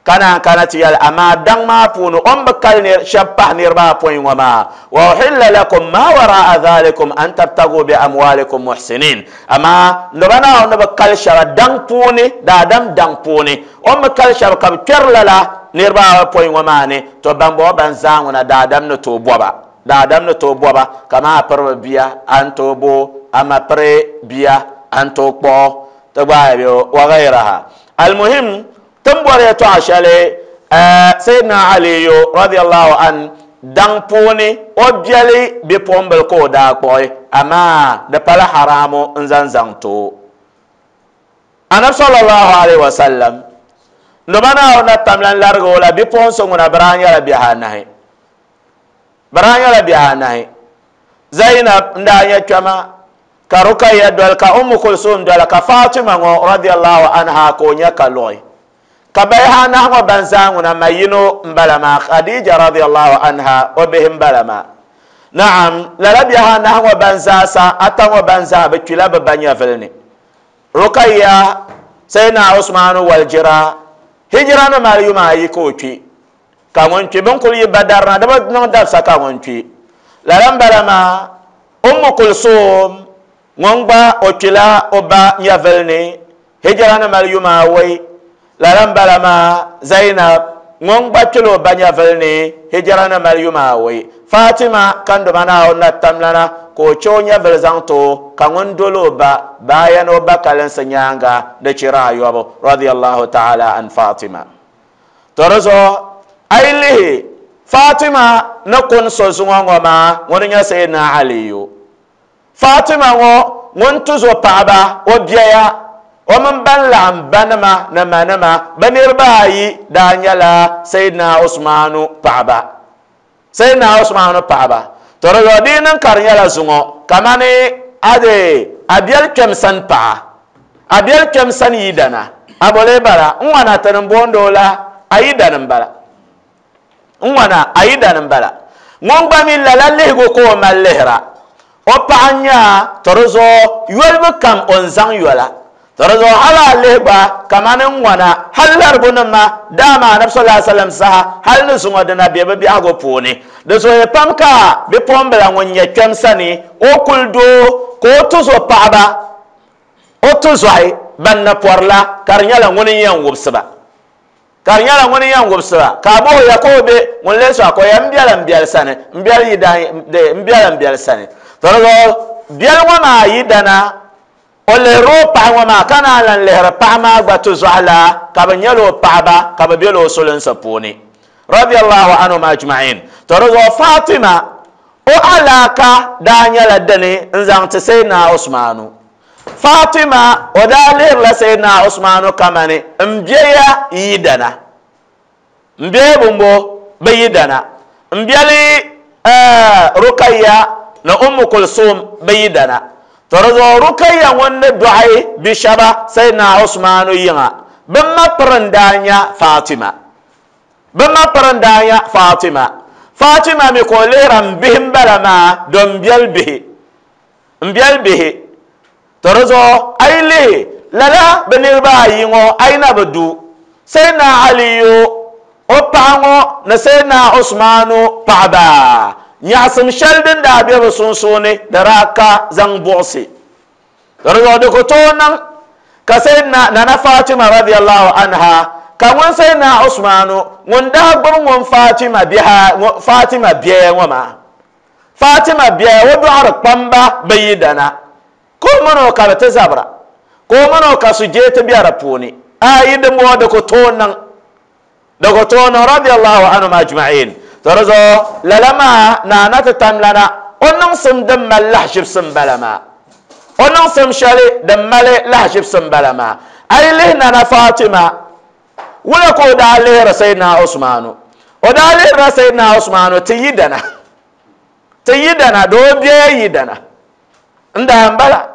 kana kana tiyal ama dang ma punu on bakal ni shabba nirba point wama wa uhilla lakum ma wara'a dhalikum an tabtagu bi amwalikum muhsinin ama ndobana on bakal shara dang puni da dam dang puni on bakal shara kam kerlala nirba point wama ne to bambo ban zangu na dadam no to boba dadam no to boba kama parba biya an to bo ama pre biya an to po to ba yo wa ghayraha almuhim tambore to ashale sayyidina Ali radiyallahu an dang puni obyali bi pombel ko da koy ama da pala haramu nzanzang to anab sallallahu alaihi wasallam ndobana ona tamlan largo la bi ponso ngona branya la bihanahi branya la bihanahi Zainab ndanya chama ka Rukayya dol ka Ummu Kulsum dol ka Fatima ngo radiyallahu anha ko nya kaloy ka bayhana ngo banzangu na mayino mbalama Khadija radiyallahu anha obihim balama na'am la rabihana ngo banzasa atango banza be kila be banya felni Rukayya sayna Usman wal jira hijra na mariyuma yi ko twi ka ngon twi bon kul yi badar na da non dar sa ka ngon twi laram barama Ummu Kulsum ngongba okila oba nyavelni hijra na mariyuma wai laram barama Zainab ngongba kilo ba nyavelni hijra na mariyuma wai Fatima kando mana onna tamlana ko chonya velzanto ka ngon dolo ba bayan oba kalensa nyanga de chira yobo radiyallahu ta'ala an Fatima torozo ailihi Fatima na kun so zungo ma ngon nya sayyidina Aliyu Fatima ngo ngon tuzo paaba o biya o man ban la banama na manama banir bayi da nyala sayyidina Usmanu paaba sayyidina Usmanu paaba torozo dinan karnyala zungo kamani ade abiel kemsan pa abiel kemsan yidana abole bara nwana tan bondola ayidana mbala nwana ayidana mbala ngongba mi la lehgo ko malehra O paɣa nya to di zuɣu yolibu kam o n zaŋ yola. To di zuɣu hali a lihi gba kamani ŋwana hali laribunima daama anabi sallallahu alaihi wasallam saha hali ni zuŋɔ dina be bi biɛhigu puuni. Di zooya pam ka bipuɣimbila ŋun nyɛ kpɛm sani o kuli doo ka o tuzo paɣaba o tuzɔhi ban na pɔrila ka di nyɛla ŋuni n yɛn wubisi ba. Ka di nyɛla ŋuni n yɛn wubisi ba ka a bohi ya ka o be ŋun lee sɔɣa ka o yɛn biɛla n biɛli sani n biɛli yidan n biɛla n biɛli sani. To di zuɣu biɛli ŋɔ maa yidana o lihiri o paɣa ŋɔ maa ka naan lan lihiri paɣa maa gba tuzɔhi la ka bi nyɛla o paɣaba ka bi bela o sulinsi puuni. Radiyallahu anhum ajma'in. To di zuɣu Fatima o alaaka daa nyɛla dini n zaŋ ti Sayyidina Usmanu. Fatima o daa lihirila Sayyidina Usmanu kamani n biɛya yidana. N biɛya bumbo bi yidana. N biɛli Rukayya ni Ummu Kulsum bi yidana. To di zuɣu Rukayya ŋun ni dɔɣi bi shɛba Sayyidina Usmanu yiŋa bi ma piri n daa nya Fatima. Bi ma piri n daa nya Fatima. Fatima mi ka o lihira n bihi n bala maa don biɛli bihi. N biɛli bihi. To di zuɣu a yi lihi lala bi niriba ayi ŋɔ a yi na bi du Sayyidina Aliyu o paɣa ŋɔ ni Sayyidina Usmanu paɣaba nyaɣasim shɛli din daa be bi sunsuuni di daa ka zaŋ buɣisi. To di zuɣu di ku tooi niŋ ka Sayyidina Nana Fatima radiyallahu anha ka ŋun Sayyidina Usmanu ŋun daa gbubi ŋun Fatima biha Fatima biɛya ŋɔ maa. Fatima biɛya o dɔɣiri kpamba bi yidana ka o mini o ka bi ti zabira ka o mini o ka sujee ti be di puuni. A yi dimbɔŋɔ di ku tooi niŋ di ku tooi niŋ radiyallahu anhum ajma'in. To di zuɣu lala maa naana ti tam lana o niŋsim din mali lahaʒibisi n bala maa. O niŋsim shɛli din mali lahaʒibisi n bala maa. A yi lihi Nana Fatima wula ka o daa lihiri Sayyidina Usmanu. O daa lihirila Sayyidina Usmanu ti yidana. Ti yidana doo biɛya yidana. N daa n bala.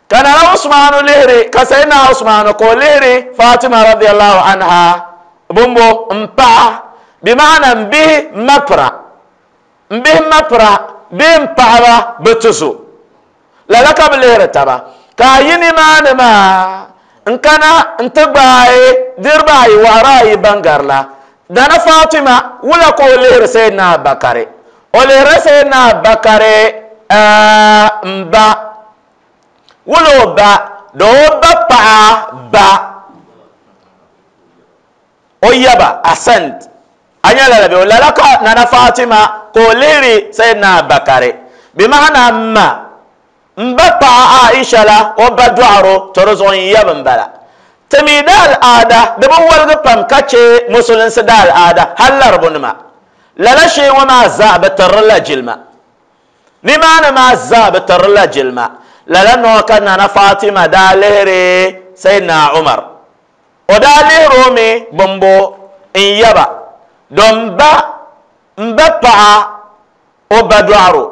Ka Nana Usmanu lihiri ka Sayyidina Usmanu ka o lihiri Fatima radiyallahu anha bumbo n paɣa bi maana n bihi mapira. N bihi mapira bihi n paɣaba bi tuzo. Lala ka bi lihiri taba. Ka a yi nimaani maa n kana n ti gbaai diriba ayi waɣara ayi ban garila. Nana Fatima wula ka o lihiri Sayyidina Abubakari. O lihiri Sayyidina Abubakari n ba. Wula o ba do o ba paɣa ba. O yaba ascent. A nyɛla la bɛ o lala ka Nana Fatima ka o lihiri Sayyidina Abubakari. Bi maana ma n ba paɣa Aisha la o ba dɔɣiro to di zuɣu n yaba n bala. Ti mi da al'aada di bi woligi pam ka che musulinsi da al'aada hali laribunima. Lala shee ŋɔ maa zaa bi tirila jilima. Nimaani maa zaa bi tirila jilima. Lala noo ka Nana Fatima daa lihiri Sayyidina Umar. O daa lihiri o mi bumbo n yaba don ba n ba paɣa o ba dɔɣiro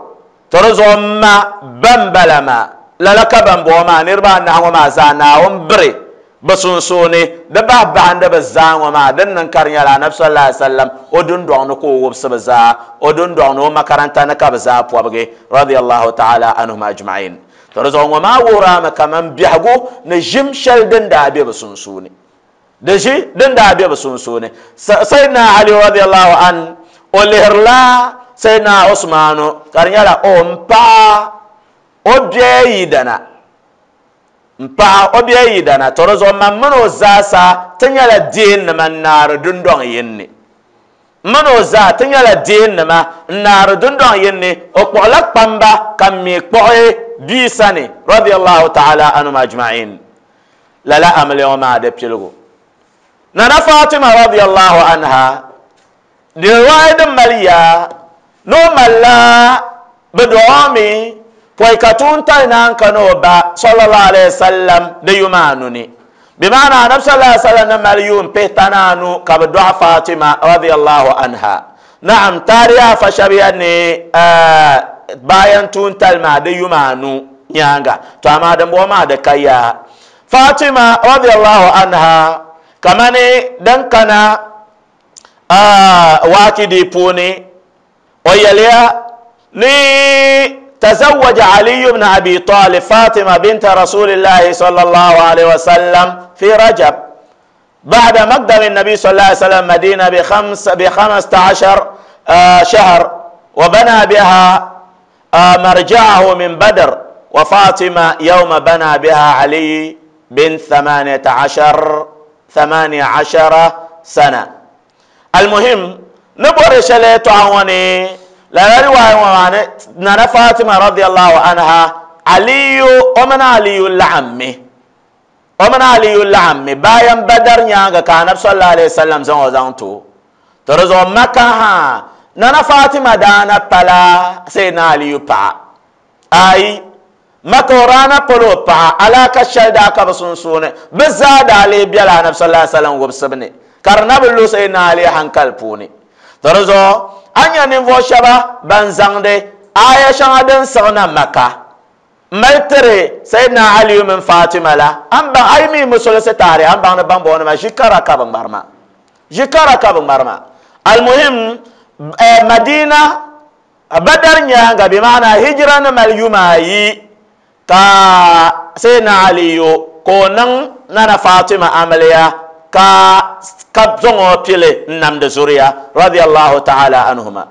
to di zuɣu n ma ban bala maa. Lala ka ban bɔŋɔ maa niriba anahi ŋɔ maa zaa Naawuni biri bi sunsuuni di bahi bahindi bi zaa ŋɔ maa din niŋ ka di nyɛla anabi sallallahu alaihi wasallam o dundɔŋ ni ka o wubisi bi zaa o dundɔŋ ni o makaranta ni ka bi zaa pɔbigi radiyallahu ta'ala anhum ajma'in. To di zuɣu ŋɔ maa wuhirami kaman biɛhigu ni ʒim shɛli din daa be bi sunsuuni. Di ʒi din daa be bi sunsuuni. Sayyidina Ali radiyallahu an o lihirila Sayyidina Usmanu ka di nyɛla o n paɣa o biɛya yidana. N paɣa o biɛya yidana. To di zuɣu man mini o zaasa ti nyɛla deennima n naari dundɔŋ yinni. Mini o zaa ti nyɛla deennima n naari dundɔŋ yinni. O kpuɣila kpamba ka n mi kpuɣi bia sani radiyallahu ta'ala anhum ajma'in. Lala amiliya ŋɔ maa di piligu. Nana Fatima radiyallahu anha di riwaaya din mali yaa ni o malila bi dɔɣimi pɔi ka tuuntali naan ka ni o ba sallallahu alaihi wasallam di yuma anu ni. Bi maana anabi sallallahu alaihi wasallam ni mali yuun pihita ni anu ka bi dɔɣi Fatima radiyallahu anha. Naam taariya fa shɛbiya ni bayan tuuntali maa di yuma anu nyaanga. To amaa dimbɔŋɔ maa di ka yaa. Fatima radiyallahu anha kamani din kana waakidi puuni o yɛliya ni تزوج علي بن أبي طالب فاطمة بنت رسول الله صلى الله عليه وسلم في رجب بعد مقدم النبي صلى الله عليه وسلم مدينة بخمس بخمسة عشر شهر، وبنى بها مرجعه من بدر، وفاطمة يوم بنى بها علي بن ثمانية عشر ثمانية عشر سنة. المهم نبور شليت عوني لا رواية نانا فاطمة رضي الله عنها علي ومن علي العمي ومن علي العمي باين بدر نيانغا كان صلى الله عليه وسلم زون زونتو ترزو مكة ها نانا فاطمة دانا بلا سيدنا علي با أي مكورانا بلو با على كشل داك بسنسون بزاد علي بيلا نبي صلى الله عليه وسلم وبسبني كرنا بلو سيدنا علي هنكال بوني ترزو anya ninvuɣu shɛba ban zaŋdi aya shɛŋa din siɣina Maka mali tiri Sayyidina Ali mini Fatima la an baŋ ayi mi musulisi taari an baŋ ni ban bɔŋɔ nima ʒi kara ka bi ŋmari ma ʒi kara ka bi ŋmari ma almuhim Madina Badar nyaanga bi maana hijira ni mali yuma ayi ka Sayyidina Ali ka o niŋ Nana Fatima amiliya ka ka zaŋ pili n namdi zuriya radiyallahu ta'ala anhuma.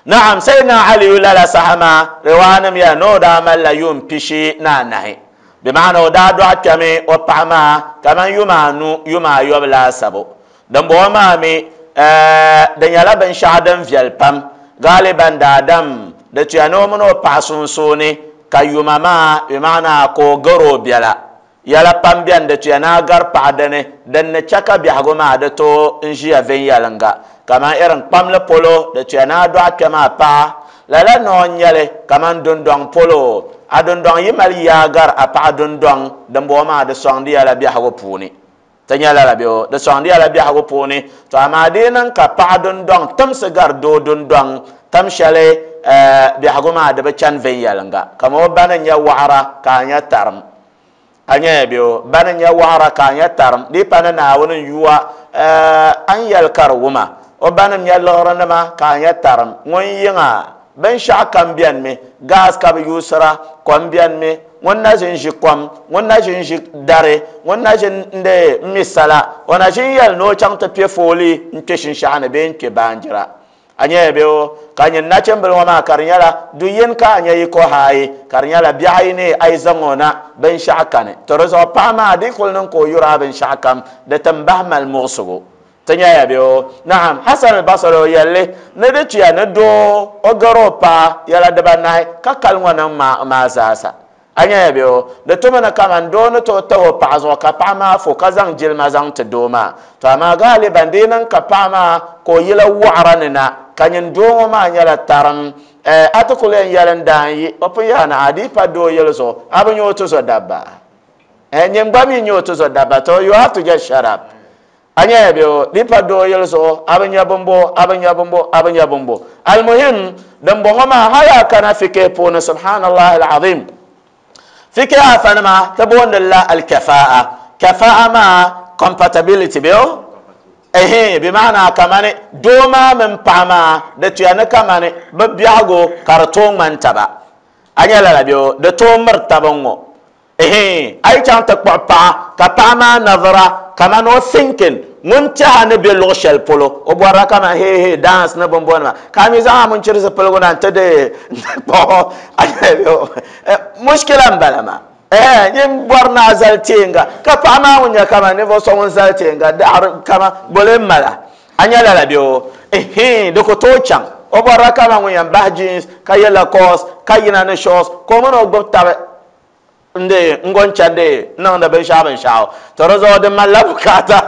Na'am Sayyidina Ali lala saha maa riwaanim ya ni o daa malila yuun pishi ni anahi bi maana o daa dɔɣi kpɛmi o paɣa maa kaman yuma anu yuma ayɔbu laasabu dimbɔŋɔ maa mi di nyɛla binshɛɣu din viɛli pam galiban daadam di tuya ni o mini o paɣa sunsuuni ka yuma maa bi maana ka o gari o biɛla yɛla pam biɛni di tuya ni a gari paɣa dini din ni chɛ ka biɛhigu maa di tooi n ʒiya viɛnyɛlinga kaman irin kpamli polo di tuya ni a dɔɣi kpɛma a paɣa lala noo n nyɛli kaman dundɔŋ polo a dundɔŋ yi mali yaa gari a paɣa dundɔŋ dimbɔŋɔ maa di sɔŋdi yɛla biɛhigu puuni ti nyɛ lala bɛ di sɔŋdi yɛla biɛhigu puuni to amaa di niŋ ka paɣa dundɔŋ timsi gari doo dundɔŋ tam shɛli biɛhigu maa di bi chani viɛnyɛlinga kaman o ba ni nyɛ waɣara ka a nyɛ tarim a nyɛ bɛ ba ni nyɛ waɣara ka a nyɛ tarim di pa ni Naawuni n yuwa an yɛli ka di wuma o ba ni nyɛ liɣiri nima ka a nyɛ tarim ŋun yiŋa binshɛɣu kam biɛni mi gaas ka bi yuusira kom biɛni mi ŋun na ʒin ʒi kom ŋun na ʒin ʒi dari ŋun na ʒin n mi sala o na ʒin yɛli ni o chaŋ ti piɛ fooli n kpɛ shinshaɣu ni bee n kpɛ baanjira a nyɛ bɛ o ka nyin nachimbili ŋɔ maa ka di nyɛla du yini ka a nyɛ yi ko haayi ka di nyɛla biɛɣu ayi ni a yi zaŋ o na binshaɣu kani to di zuɣu paɣa maa di kuli niŋ ka o yuri a binshaɣu kam di ti bahi mali muɣusigu ti nyɛya bɛ o. Naam Hasan al-Basri o yɛlli ni di tuya ni doo o gari o paɣa yɛla dibanahi ka kali ŋɔ niŋ maa zaasa a nyɛya bɛ o di tumi ni kaman doo ni tooi tahi o paɣa zuɣu ka paɣa maa fo ka zaŋ jilima zaŋ ti doo maa to amaa galiban di niŋ ka paɣa maa ka o yila waɣara ni na ka nyin doo ŋɔ maa nyɛla tarim a ti kuli yɛn yɛli n daan yi o pun yaa na a di pa doo yɛli zuɣu a bi nyɛ o tuzo dabba nyin gba mi nyɛ o tuzo dabba to you have to just shut up a nyɛya bɛ o di pa doo yɛli zuɣu a bi nyɛ bimbo a bi nyɛ bimbo a bi nyɛ bimbo almuhim dimbɔŋɔ maa hali a kana fikeh puuni subhanallah alazim fikeh afanima ti booni la alkafaa kafaa maa compatibility bɛ o ehe bi maana kamani doo maa mini paɣa maa di tuya ni kamani bi biɛhigu ka di tooi ŋmani taba a nyɛ lala bɛ o di tooi miri taba ŋɔ ehe a yi chaŋ ti kpuɣi paɣa ka paɣa maa nazara kaman o thinking ŋun tɛha ni be luɣu shɛli polo o bɔrila kaman hee hee dance ni binbɔnima ka a mi zaŋ a mun chiri zipiligu na n-ti di kpuɣi a nyɛ bɛ o mushkila n-bala maa eh nyin bɔri ni a zali teenga ka paɣa maa ŋun nyɛ kaman ninvuɣu so ŋun zali teenga daɣari kama boli n mala a nyɛ lala bɛ o ehe di ku tooi chaŋ o bɔrila kaman ŋun yɛn bahi jeans ka ye Lacoste ka yina ni shorts ka o mini o gbubi tabi nde ngon chande niŋdi binshaɣu binshaɣu to di zuɣu di malila bukaata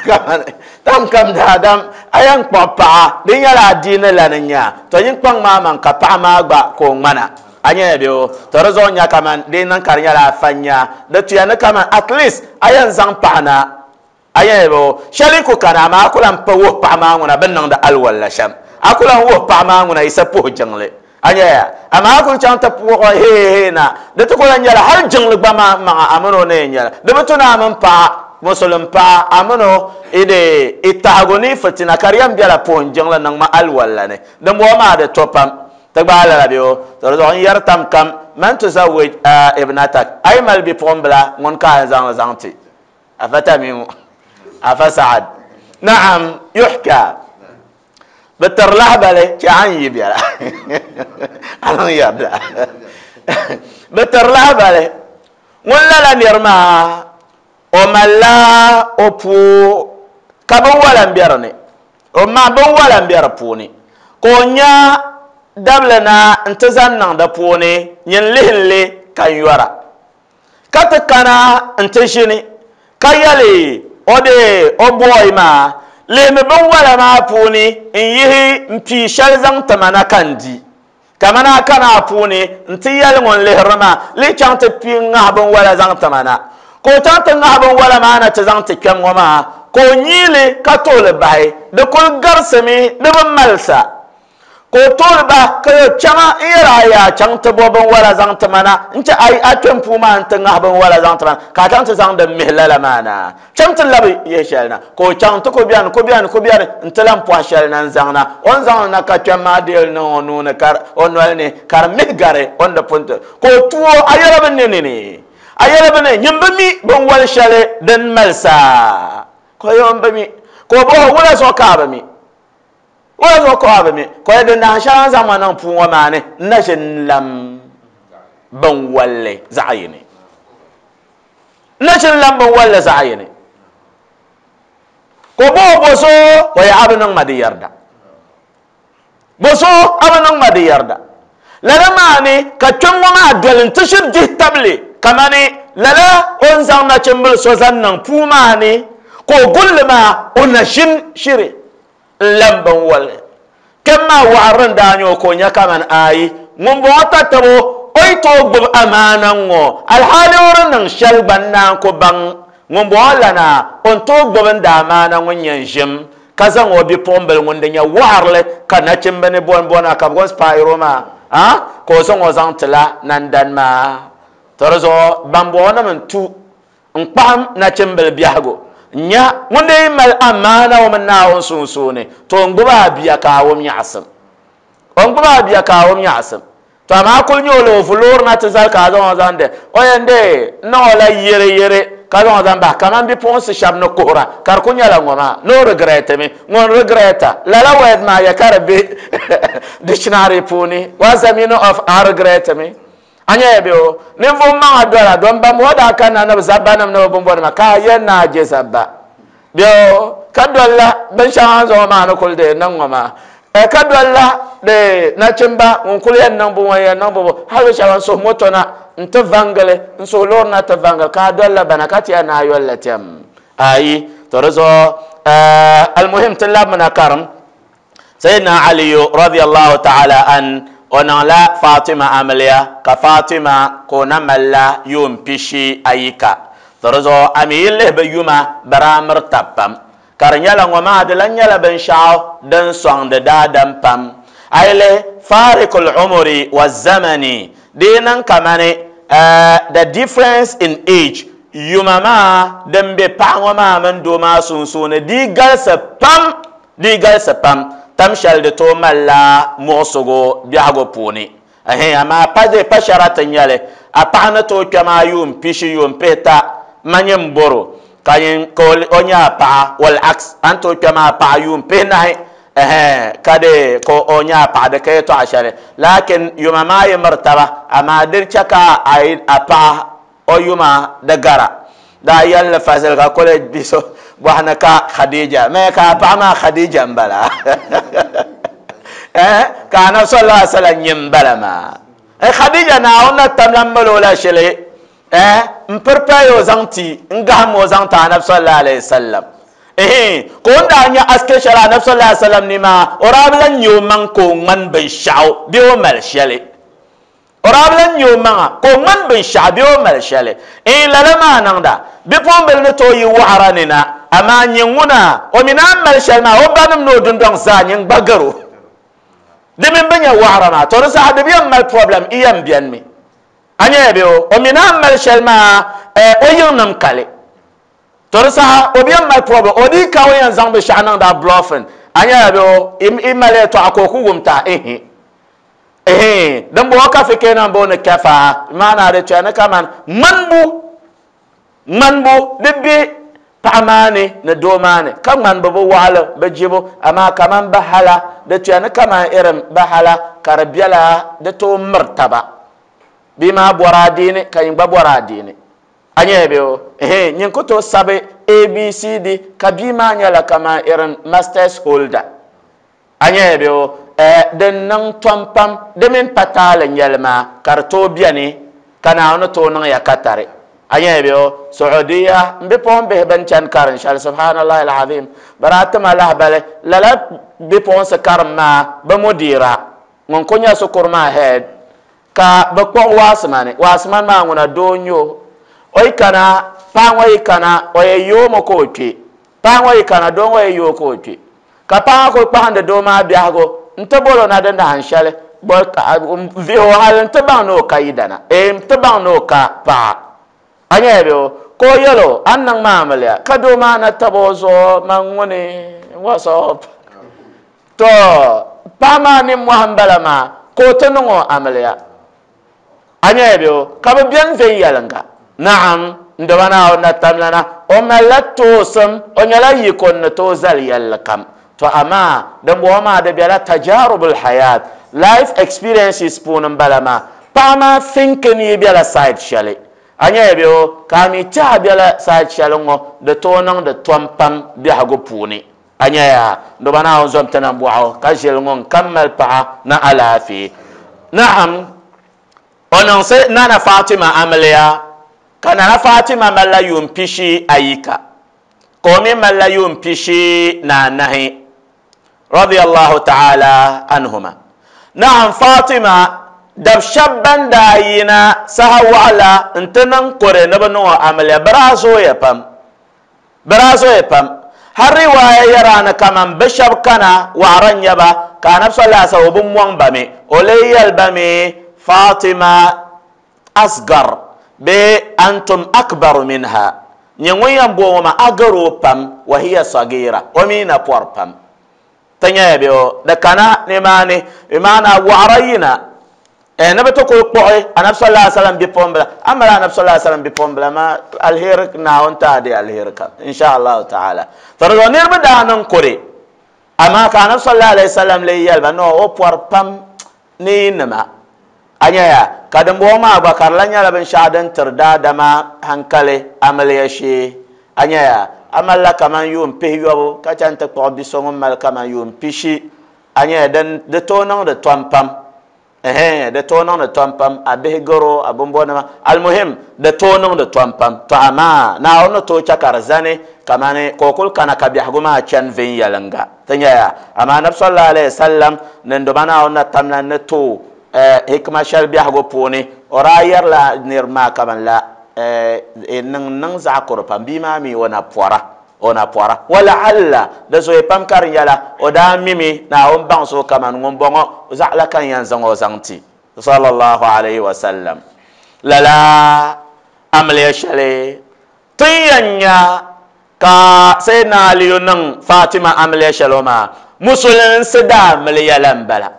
kaman tam kam daadam a yɛn kpuɣi paɣa di nyɛla adiini la ni nya to nyin kpaŋ maa maŋ ka paɣa maa gba ka o ŋmana a nyɛla bɛ o to di zuɣu nya kaman di niŋ ka di nyɛla afa nya di tuya ni kaman at least a yɛn zaŋ paɣa na a nyɛla bɛ o shɛli ku kana amaa a ku lan pa wuhi paɣa maa ŋuna bin niŋdi alwala shɛm a ku lan wuhi paɣa maa ŋuna yisa puhi jiŋli a nyɛya amaa a kuli chaŋ ti puɣi hee hee na di ti ku lan nyɛla hali jiŋli gba maa maŋa a mini o na yɛn nyɛla di bi tu ni a mini paɣa musulin paɣa a mini o i tahigu ni fitina ka di yɛn bɛla puhim jiŋli niŋ ma alwala ni dimbɔŋɔ maa di to pam Ti gbaai lala bɛ o to di zuɣu n yɛri tam kam man tuzawwij ibnatak a yi mali bipuɣimbila ŋun ka a zaŋ zaŋ ti afa tamimu afa Saad naam yuhka bi tiri lahabali chɛ a ni yi biɛla a niŋ yɛrida bi tiri lahabali ŋun lala niri maa o malila o puu ka binwala n bɛ dinni o ma binwala n bɛ di puuni ka o nya dabili na n ti zaŋ niŋ di puuni nyin lihinli ka n yɔra ka ti kana n ti ʒini ka yɛli o de o booyi maa lihimi binwala maa puuni n yihi n pii shɛli zaŋ ti ma na ka n di kamani a kana a puuni n ti yɛli ŋun lihiri maa lihi chaŋ ti pii ŋahi binwala zaŋ ti ma na ka o chaŋ ti ŋahi binwala maa na ti zaŋ ti kpɛm ŋɔ maa ka o nyiili ka tooli bahi di kuli garisimi di bi malisa ka o tooli bahi ka yo chaŋa n yɛri a yaa chaŋ ti bo binwala zaŋ ti ma na n chɛ a kpɛm puu maa n ti ŋahi binwala zaŋ ti ma na ka a chaŋ ti zaŋ din mihi lala maa na chaŋ ti labi yihi shɛli na ka o chaŋ ti ku biɛni ku biɛni ku biɛni n ti lan pɔhi shɛli na n zaŋ na o ni zaŋli na ka kpɛm maa deeli niŋ o nuuni o noli ni ka di mihi gari o ni di pun ti ka o tuo a yɛla bi ni ni a yɛla bi ni nyin bi mi binwali shɛli din malisa ka o yɛ n bi mi ka o bɔhi wula zuɣu ka a bi mi wula zuɣu ka a bi mi ka o yɛ din dahin shɛli n zaŋ ma niŋ puu ŋɔ maa ni n na ʒi n lam binwalli zaɣ yini n na ʒi n lam binwalli zaɣ yini ka o bɔhi bo so o yɛ a bi niŋ ma di yɛrida bo so a bi niŋ ma di yɛrida lala maa ni ka kpɛm ŋɔ maa doli n ti shiri dihi tabili kamani lala o ni zaŋ nachimbili so zaŋ niŋ puu maa ni ka o gulli maa o na ʒini shiri n lam binwalli kpɛm maa waɣari n daa nyɛ o ka o nya kamani ayi ŋun bɔŋɔ tatabo o yi tooi gbubi amaana ŋɔ alhaali o di niŋ shɛli gba n naan ku baŋ ŋun bɔŋɔ lana o ni tooi gbubi n daa amaana ŋun nyɛ n ʒim ka zaŋ o bipuɣimbili ŋun di nyɛ waɣarili ka nachimbi ni bɔnbɔna ka bi gɔn spaayiro maa ka o zaŋ o zaŋ tila nandan maa to di zuɣu ban bɔŋɔ nim n tu n kpaham nachimbili biɛhigu nya ŋun dee mali amaana o mini Naawuni sunsuuni to n gbubi a bia ka a wum nyaɣasim o n gbubi a bia ka a wum nyaɣasim to amaa kuli nyɛ o la o vu loori na ti zali ka a zaŋ o zaŋ de o yɛn dee n niŋ o la yere yere ka zaŋ o zaŋ bahi kamani bipuɣunsi shɛba ni kuhura ka di ku nyɛla ŋɔ maa no regret mi ŋun regreta lala word maa yɛ ka di be dictionary puuni what's the meaning of a regret mi a nyɛla bɛ o ninvuɣu maŋa dola don ban o daa kanna ni bi zabba nim ni bi binbɔnima ka a yɛn naa je zabba bɛ o ka dolla binshɛŋa zuɣu maa ni kuli dee niŋ ŋɔ maa ka dolla de nachimba ŋun kuli yɛn niŋ bu ŋɔ yɛn niŋ bu bu hali shɛba n suhu moto na n ti vangili n suhu loori na ti vangili ka a dolla bana ka ti yɛn naa yolli tɛm ayi to di zuɣu almuhim ti labimina karim Sayyidina Aliyu radiyallahu ta'ala an o niŋla Fatima amiliya ka Fatima ka o na malila yuun pishi ayika to di zuɣu a mi yi lihi bi yuma bi daa miri tabi pam ka di nyɛla ŋɔ maa di lan nyɛla binshaɣu din sɔŋdi daadam pam a yi lihi farikul umuri wa zamani di yi niŋ kamani the difference in age yuma maa din be paɣa ŋɔ maa mini doo maa sunsuuni di galisi pam di galisi pam tam shɛli di tooi malila muɣusigu biɛhigu puuni amaa pa de pa shɛra ti nyɛli a paɣa ni tooi kpɛm a yuun pishi yuun pihita ma nyɛ boro ka o nyɛ a paɣa wal aks a ni tooi kpɛm a paɣa yuun pihinahi ka de ka o nyɛ a paɣa di ka yɛltɔɣa shɛli lakin yuma maa yi miri taba amaa di chɛ ka a paɣa o yuma di gara daa yɛlli fazil ka kuli bi so bɔhini ka Khadija mɛ ka a paɣa maa Khadija n bala ka anabi sallallahu alaihi wasallam nyɛ n bala maa Khadija Naawuni na tamla mali o la shɛli n prepare o zaŋ ti n gaham o zaŋ ti anabi sallallahu alaihi wasallam ka o ni daa nyɛ aske shɛli anabi sallallahu alaihi wasallam ni maa o daa bi lan nyɛ o maŋ ka o ŋmani binshaɣu bee o mali shɛli o daa bi lan nyɛ o maŋa ka o ŋmani binshaɣu bee o mali shɛli lala maa niŋda bipuɣimbili ni tooi yi waɣara ni na amaa nyɛ ŋuna o mi naan mali shɛli maa o banim ni o dundɔŋ zaa nyɛ n gba garo di mini bi nyɛ waɣara maa to di saha di bi yɛn mali problem i yɛn biɛni mi a nyɛla bɛ o o mi naan mali shɛli maa o yiŋnim kali to di saha o bi yɛn mali problem o dii ka o yɛn zaŋ binshaɣu niŋda bluffing a nyɛla bɛ o i mali yɛltɔɣa ka o ku wum ta ihi Eh din bo ka fike nan bo ne kafa maana de chana kaman manbu manbu de be paɣa maani ni doo maani ka ŋmani bi bi waɣali bi jibu amaa kaman bahala di tuya ni kaman irin bahala ka di biɛla di tooi miri taba bia maa bɔri adiini ka nyin gba bɔri adiini a nyɛla bɛ o ehe nyin ku tooi sabi A B C D ka bia maa nyɛla kaman irin masters holder a nyɛla bɛ o din niŋ tom pam di mini pa taali nyɛli maa ka di tooi biɛni ka Naawuni tooi niŋ ya katari a nyɛla bɛ o Saudiya n bipuɣin bihi bin chani karin shɛli subhanallahi alazim bara tima lahabali lala bipuɣinsi karim maa bi mudira ŋun ku nyɛ sukuru maa head ka bi kpuɣi waasimani waasimani maa ŋuna doo n nyɛ o o yi kana paɣa ŋɔ yi kana o yɛ yoomi ka o kpe paɣa ŋɔ yi kana doo ŋɔ yɛ yoo ka o kpe ka paɣa ŋɔ kuli kpahindi doo maa biɛhigu n ti bolo na di nahin shɛli vihi o hali n ti baŋ ni o ka yidana n ti baŋ ni o ka paɣa a nyɛla bɛ o ka o yɛl o a ni niŋ maa amiliya ka doo maa na tabi o zuɣu man ŋuni what's up to paɣa maa ninmohi n bala maa ka o ti niŋ o amiliya a nyɛla bɛ o ka bi biɛni viɛnyɛlinga naam n doba Naawuni na tamlana o malila toosim o nyɛla yiko ni tooi zali yɛlli kam to amaa din bɔŋɔ maa di biɛla tajarubul hayat life experiences puuni n bala maa paɣa maa thinking yi biɛla side shɛli a nyɛla bɛ o ka a mi tɛha biɛla side shɛli ŋɔ di tooi niŋdi tom pam biɛhigu puuni a nyɛya doba Naawuni zom ti na bɔɣu ka ʒili ŋɔ n kam mali paɣa ni alaafee naam o niŋsi Nana Fatima amiliya ka Nana Fatima malila yuun pishi ayika ka o mi malila yuun pishi ni anahi radiyallahu ta'ala anhuma naam Fatima dab shɛba ban daa yina saha waɣala n ti niŋ kore ni bi niŋ o amiliya bi daa zooya pam bi daa zooya pam har riwaaya yɛra ni kaman bi shɛba kana waɣara n nyɛba ka anabi sallallahu alaihi wasallam o bi mɔŋ ba mi o lee yɛli ba mi Fatima asgar bee antum akbaru minha nyɛ ŋun yɛn boŋo maa a gari o pam wa hiya sagira o mi na pɔri pam ti nyɛla bɛ o di kana nimaani bi maana waɣara yina ni bi ti kuli kpuɣi anabi sallallahu alaihi wasallam bipuɣinbila a mali anabi sallallahu alaihi wasallam bipuɣinbila maa alheri Naawuni ti a di alheri kam insha allahu taala to di zuɣu niriba daa niŋ kuri amaa ka anabi sallallahu alaihi wasallam lee yɛli ba no o pɔri pam ni nima a nyɛya ka dimbɔŋɔ maa gba ka di la nyɛla binshaɣu din tiri daadama hankali amiliya shee a nyɛya a malila kaman yuun pihi yobu ka chani ti kpuɣi bi so ŋun mali kaman yuun pishi a nyɛya di tooi niŋdi tom pam ehe di tooi niŋdi tom pam a bihi garo a bimbɔnima almuhim di tooi niŋdi tom pam to amaa Naawuni ni tooi chɛ ka di zani kamani ka o kuli kana ka biɛhigu maa chani viɛnyɛlinga ti nyɛya amaa anabi sallallahu alaihi wasallam ni doba Naawuni na tamla ni tooi hikma shɛli biɛhigu puuni o daa yɛrila niriba maa kaman la niŋ niŋ zaɣ kuri pam bia maa mi o na pɔra o na pɔra walaalla di zooi pam ka di nyɛla o daa mimi Naawuni baŋsi o kaman ŋun bɔŋɔ zaɣ la ka n yɛn zaŋ o zaŋ ti sallallahu alaihi wasallam lala amiliya shɛli tin yɛn nya ka Sayyidina Aliyu niŋ Fatima amiliya shɛli o maa musulinsi daa amiliya la n bala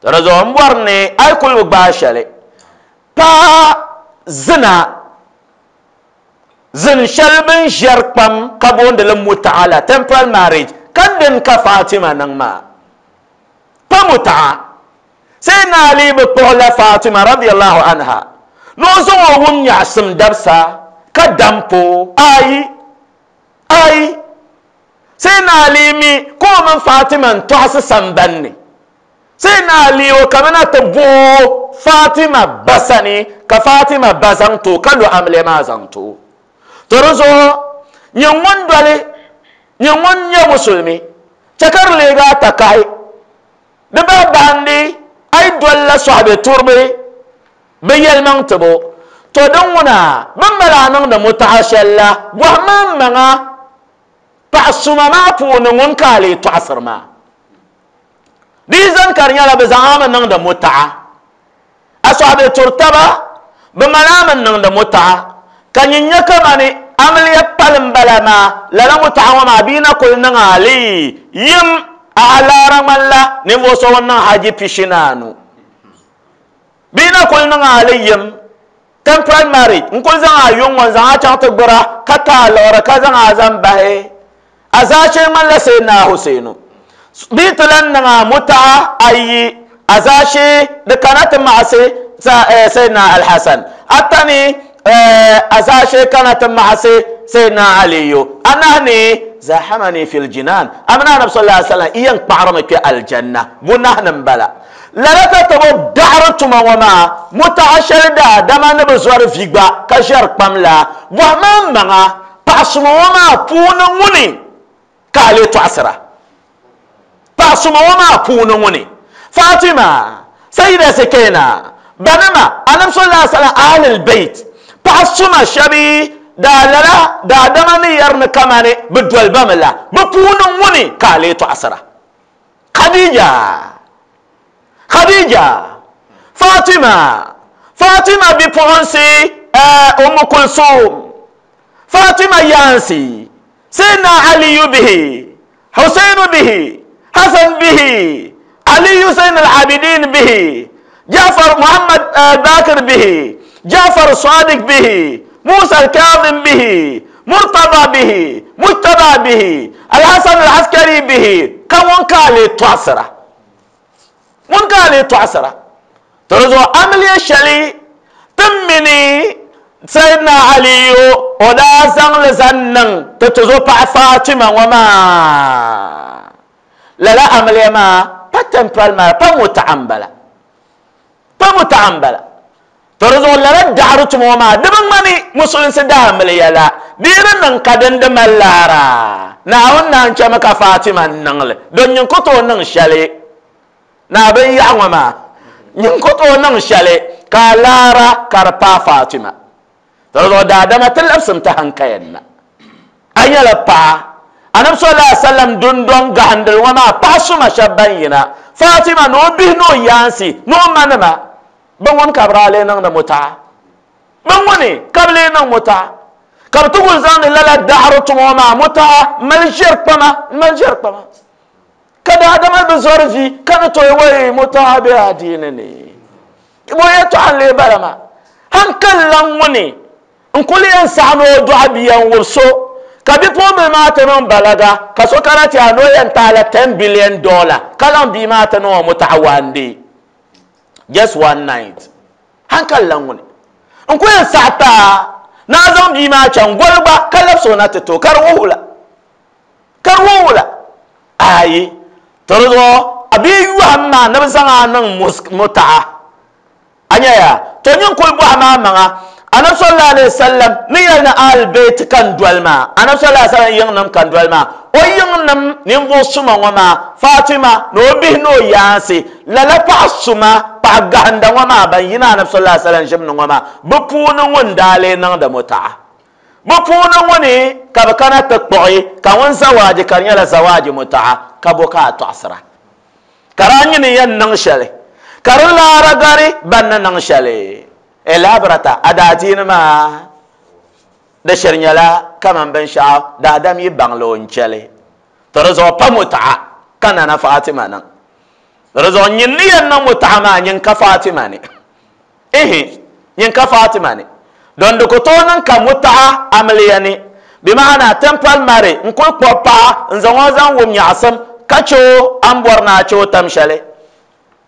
to di zuɣu n bɔri ni a yi kuli bi gbaai shɛli paɣa zina zin shɛli bin ʒɛri kpam ka booni li mutaala temporal marriage ka din ka Fatima niŋ maa pa mutaa Sayyidina Ali bi kpuɣila Fatima radiyallahu anha ni o zaŋ o wum nyaɣasim dabisa ka dampo ayi ayi Sayyidina Ali mi ka o mini Fatima n tɔɣisi sambanni Sayyidina Ali o kamina ti booi Fatima basani ka Fatima ba zaŋ to ka lo amiliya maa zaŋ to to di zuɣu nyɛ ŋun doli nyɛ ŋun nyɛ musulmi chɛ ka di leegi a takahi di bahi bahindi a yi dolila sɔhibe turibi bi yɛlimaŋ tibo to din ŋuna bin mali a niŋdi mutaɣa shɛli la bɔhima n maŋa paɣa suma maa puuni ŋun ka a lee tɔɣisiri maa di yi zaŋ ka di nyɛla bi zaŋ a mi niŋdi mutaɣa a sɔhibe turi taba bi mali a mi niŋdi mutaɣa ka nyin nyɛ kamani amiliya pali n bala maa lala mutaɣa ŋɔ maa bia na kuli niŋ a li yim a alaara ŋmanila ninvuɣu so ŋun niŋ haji pishi ni anu Bina kul niŋ a li yim temporary marriage n kul zaŋ a yuŋ ŋɔ n zaŋ a chaŋ ti gbura ka ta a liɣiri ka zaŋ a zaŋ bahi a zaashee ŋmanila Sayyidina Husainu bii ti lan niŋ a mutaa ayi a zaashee di kana ti maɣasi Sayyidina Alhassan ata ni a zaashee kana ti maɣasi Sayyidina Aliyu anahi ni zahamani fil jinan amina anabi sallallahu alaihi wasallam iyan kpaɣarimi kpe aljanna bunahi ni n bala lala ka ti bi daɣari tuma ŋɔ maa mutaɣa shɛli daadama ni bi zɔri vi gba ka ʒɛri kpam la bɔhima n maŋa paɣa suma ŋɔ maa puuni ŋuni ka a lee tɔɣisira paɣa suma ŋɔ maa puuni ŋuni Fatima Sayyida Sakina banima anabi sallallahu alaihi wasallam ahlul bait paɣa suma shɛbi daa lala daadama ni yɛri ni kamani bi doli ba mi la bi puuni ŋuni ka a lee tɔɣisira Khadija Khadija Fatima Fatima bipuɣinsi Ummu Kulsum Fatima yaansi Sayyidina Aliyu bihi Husainu bihi Hassan bihi Aliyu Zain al-Abidin bihi Jafar Muhammad Bakir bihi Jafar Sadiq bihi Musa al-Kazim bihi Murtada bihi Mujtaba bihi Al-Hasan al-Askari bihi ka ŋun ka a lee tɔɣisira ŋun ka a lee tɔɣisira to di zuɣu amiliya shɛli ti mini Sayyidina Aliyu o daa zaŋ li zaŋ niŋ ti tuzo paɣa Fatima ŋɔ maa lala amiliya maa pa temporary maa pa mutaɣa n bala pa mutaɣa n bala to di zuɣu lala daɣari tuma ŋɔ maa di bi ŋmani musulinsi daa amiliya la di yi di niŋ ka din di mali laara Naawuni naan chɛmi ka Fatima niŋli don nyin ku tooi niŋ shɛli na bin yaɣa ŋɔ maa nyin ku tooi niŋ shɛli ka a laara ka di paai Fatima to di zuɣu daadama ti labsim ti hankayan na a nyɛla paɣa anabi sallallahu alaihi wasallam dundɔŋ gahindili ŋɔ maa paɣa suma shɛba ban yina Fatima ni o bihi ni o yaansi ni o manima bi ŋuni ka bi daa lee niŋdi mutaɣa bi ŋuni ka bi lee niŋ mutaɣa ka bi ti kuli zaŋdi lala daɣari tuma ŋɔ maa mutaɣa mali ʒɛri kpama mali ʒɛri kpama ka daadama bi zɔri vi ka ni tooi wai mutaɣa be adiini ni bo yɛltɔɣa n lee bala maa hankali lan ŋuni n kuli yɛn saɣa ni o dɔɣi bia n wubi so ka bipuɣimbila maa ti niŋ balaga ka so kana ti a ni o yɛn taala ten billion dollar ka zaŋ bia maa ti niŋ o mutaɣa one day just one night hankali lan ŋuni n ku yɛn saɣa taa na a zaŋ bia maa chaŋ goli gba ka labisi o na ti to ka di wuhi la ka di wuhi la ayi to di zuɣu a bia yɔhim maa ni bi zaŋ a niŋ mutaɣa a nyɛya to nyin kuli bɔhi maa maŋa anabi sallallahu alaihi wasallam ni yɛli ni ahlul bait kan doli maa anabi sallallahu alaihi wasallam yiŋnim kan doli maa o yiŋnim ninvuɣu suma ŋɔ maa Fatima ni o bihi ni o yaansi lala paɣa suma paɣa gahinda ŋɔ maa ban yina anabi sallallahu alaihi wasallam ʒim ni ŋɔ maa bi puuni ŋun daa lee niŋdi mutaɣa bi puuni ŋuni ka bi kana ti kpuɣi ka ŋun zawaaji ka di nyɛla zawaaji mutaɣa ka bo ka a tɔɣisira ka di a nyini yɛn niŋ shɛli ka di laara gari ban ni niŋ shɛli elabrata a daadiini maa di shiri nyɛla kaman binshaɣu daadam yi baŋli o n chɛli to di zuɣu pa mutaɣa ka nana Fatima niŋ di zuɣu nyin ni yɛn niŋ mutaɣa maa nyin ka Fatima ni ihi nyin ka Fatima ni don di ku tooi niŋ ka mutaɣa amiliya ni bi maana temporary marriage n kuli kpuɣi paɣa n zaŋ o zaŋ wum nyaɣasim ka che o a ni bɔri ni a che o tam shɛli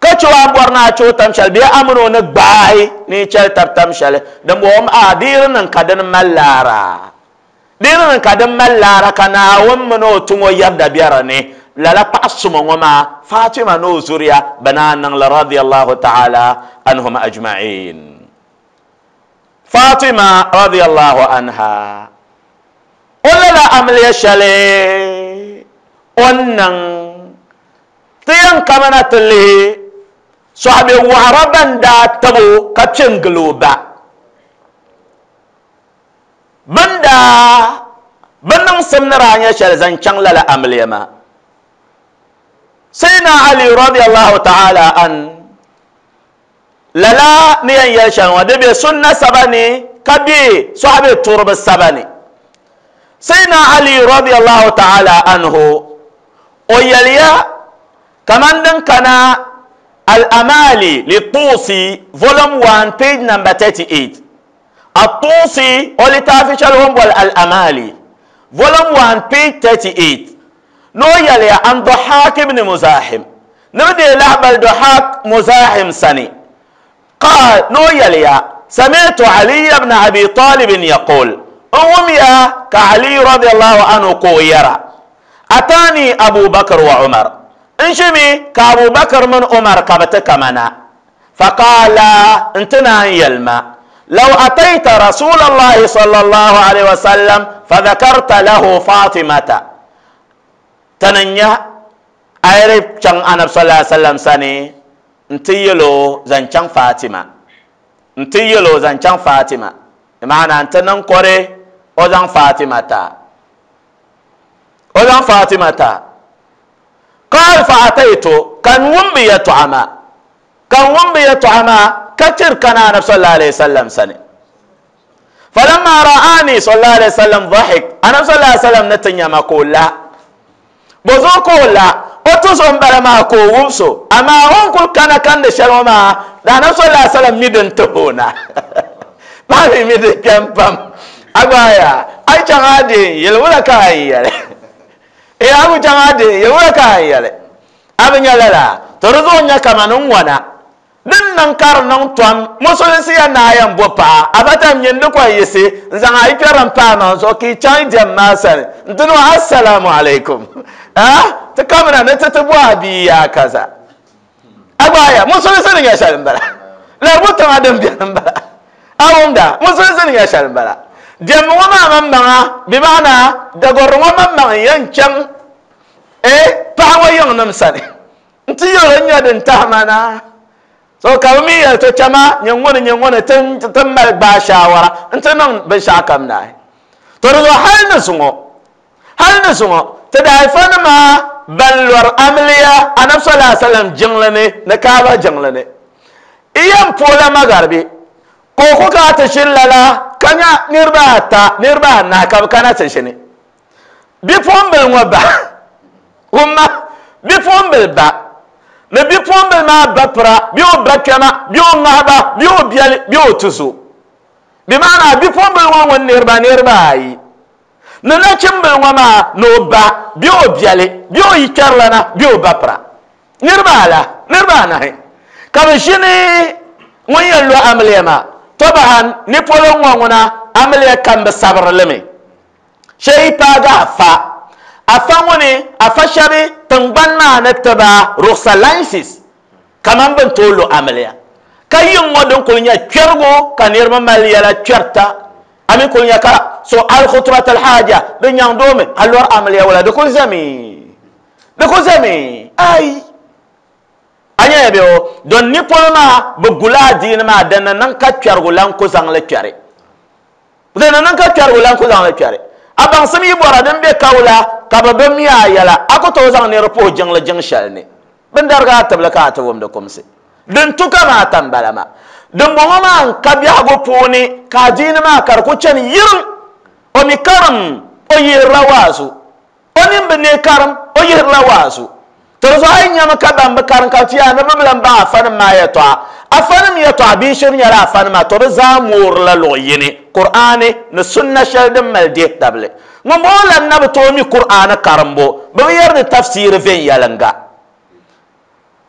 ka che o a ni bɔri ni a che o tam shɛli bee a mini o ni gbaai ni chɛli tabi tam shɛli din bɔŋɔ a di yi di niŋ ka dini mali laara di yi di niŋ ka din mali laara ka Naawuni mini o tuŋ o yɛrida bɛ di ni lala paɣa suma ŋɔ maa Fatima ni o zuriya bɛ naa niŋli radiyallahu ta'ala anhum ajma'in Fatima radiyallahu anha o lala amiliya shɛli o ni niŋ ti yɛn kamana ti lihi sɔhibi waɣara ban daa tabo ka kpe n gili o ba bin daa bi niŋsim ni daa nyɛ shɛli zaŋ chaŋ lala amiliya maa Sayyidina Ali radiyallahu ta'ala an lala ni yɛn yɛli shɛli ŋɔ di be sunna saba ni ka be sɔhibi turibi saba ni Sayyidina Ali radiyallahu ta'ala anhu o yɛliya kaman din kana Al-Amali li-Tusi volume one page number thirty-eight. At-Tusi o litaafi shɛli o ni boli Al-Amali volume one page thirty-eight. No yɛliya an Dahak ibn Muzahim ni bi deei lahibali Dahak Muzahim sani قال no yɛliya سمعت علي بن أبي طالب يقول أميا كعلي رضي الله عنه كويرا أتاني أبو بكر وعمر انشمي كأبو بكر من عمر كبتك منا فقال انتنا يلما لو أتيت رسول الله صلى الله عليه وسلم فذكرت له فاطمة تننيا أيرب شان أنا صلى الله عليه وسلم سني انتيلو زنشان فاطمة انتيلو زنشان فاطمة معنى أنت ننقري أوزان فاطمة تا أوزان فاطمة تا قال فأتيت كان ومبي يطعما كان ومبي يطعما كثير كان أنا صلى الله عليه وسلم سنة فلما رآني صلى الله عليه وسلم ضحك أنا صلى الله عليه وسلم نتنيا ما قول لا بزوكو لا أتوسهم بلا ما كووسو أما هم كل كان كان دشلوما أنا صلى الله عليه وسلم ميدن تهونا ما في ميدن كم بام أبايا أي شغادي يلولا كاي يلا إيه أبو شغادي يلولا كاي يلا أبني لا ترزونيا كمان وانا din nan kar nan tom musulunsi ya na yan bo pa abatam nyin ko yisi nzan ay peran pa ma zo ki chan dem ma san ndino assalamu alaikum ah ta kamera ne ta tabo abi ya kaza abaya musulunsi ne ya shalin bala la buta adam biyan bala awunda musulunsi ne ya shalin bala dem wa ma man bi mana da gorro ma man yan chan eh pa wa yan nam sane nti yoro nya din ta mana so kawmi ya to chama nyangona nyangona tan tan mal ba shawara ntan nan ban shakam na to ro hal na sungo hal na sungo ta da fana ma balwar amliya anab sallallahu alaihi wasallam jinglane na kaba jinglane iyan pola magarbi ko ko ka ta shillala kanya nirba ta nirba na ka kana ta shine bi fombel ngoba umma bi fombel ba ne bi pombe ma bapra bi o bakama bi o ngaba bi o biali bi o tusu bi mana bi pombe won won nerba nerba ayi ne na chimbe won ma no ba bi o biali bi o yikarlana bi o bapra nerba ala nerba na he ka bi shini won yello amlema tobahan ni polo won amle kan be sabrleme sey paga fa afangone afashabe tangban ma na taba ruxalansis kaman ban tolo amaliya kayin ngodon ko nya kwergo kanir ma maliya la kwerta ami ko nya ka so al khutrat al haja de nyang dome alor amaliya wala de ko zami de ko zami ay anya be o don ni polma bu gula din ma dan nan ka kwergo lan ko zang la kwere dan nan ka kwergo lan ko zang la kwere aban sami bora den be kawla ka ba be miya yala akoto zang ne repo jang la jang shalne ben darga tabla ka ta wom de komse den tuka ma tambala ma den bo ma ka biya go poni ka jini ma kar ko chen yirum o mi karam o yirra wasu o nim be ne karam o yirra wasu to zo ay nyama ka ban be karam ka tiya na be ba afan ma ya to afan mi ya to bi shir nyara afan ma to za mur la lo yini qur'ani na sunna shaldin malde dable mo la na to mi qur'ana karambo be yar ni tafsir ven yalanga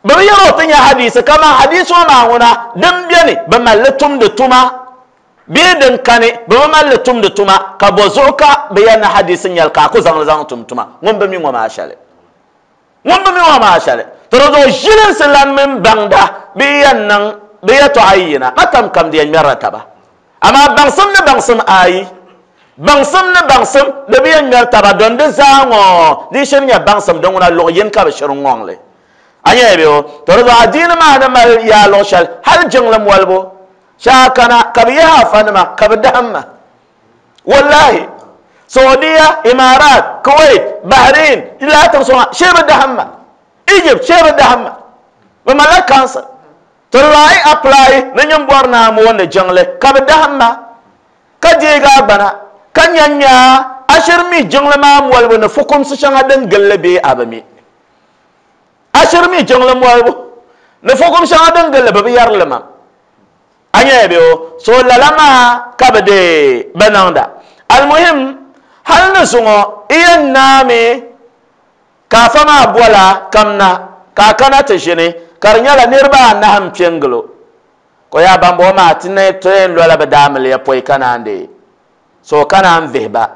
be yaro tinya hadisi kama hadisi ma wona dan biyani be mallatum de tuma be den kane be mallatum de tuma ka bozoka be yana hadisin yalka ko zang zang tum tuma ngom be mi ngoma shale ngom be mi ngoma shale to do jilin silan min bangda be yannan be yato ayina matam kam de martaba ama bangsum ne bangsum ayi bangsum ne bangsum de be yan martaba don de zango di shin ya bangsum don wona lo yen ka be shirun ngongle anya be o to do adina ma na mal ya lo shal hal jinglam walbo shakana kabiya fanma kabdamma wallahi saudiya imarat kuwait bahrain ila tanso shebe dahamma egypt shebe dahamma ba malakansa to lai apply na nyum borna mo wonde jingle kabdamma kaje ga bana kanyanya ashirmi jingle ma walbo na fukum su shanga dan gallabe abami ashirmi jingle mo walbo Ni fukum shɛŋa din gilli bi bi yɛri li ma. A nyɛla bɛ o so lala maa ka bi de bi niŋda. Almuhim hali ni zuŋɔ i yɛn naami ka afa maa bola kamna ka a kana ti ʒini ka di nyɛla niriba anahi n piɛ n gilo ko yaa bambɔŋɔ maa ti ne ti yɛn lola bi daamiliya pɔi ka naan de so ka naan vihi ba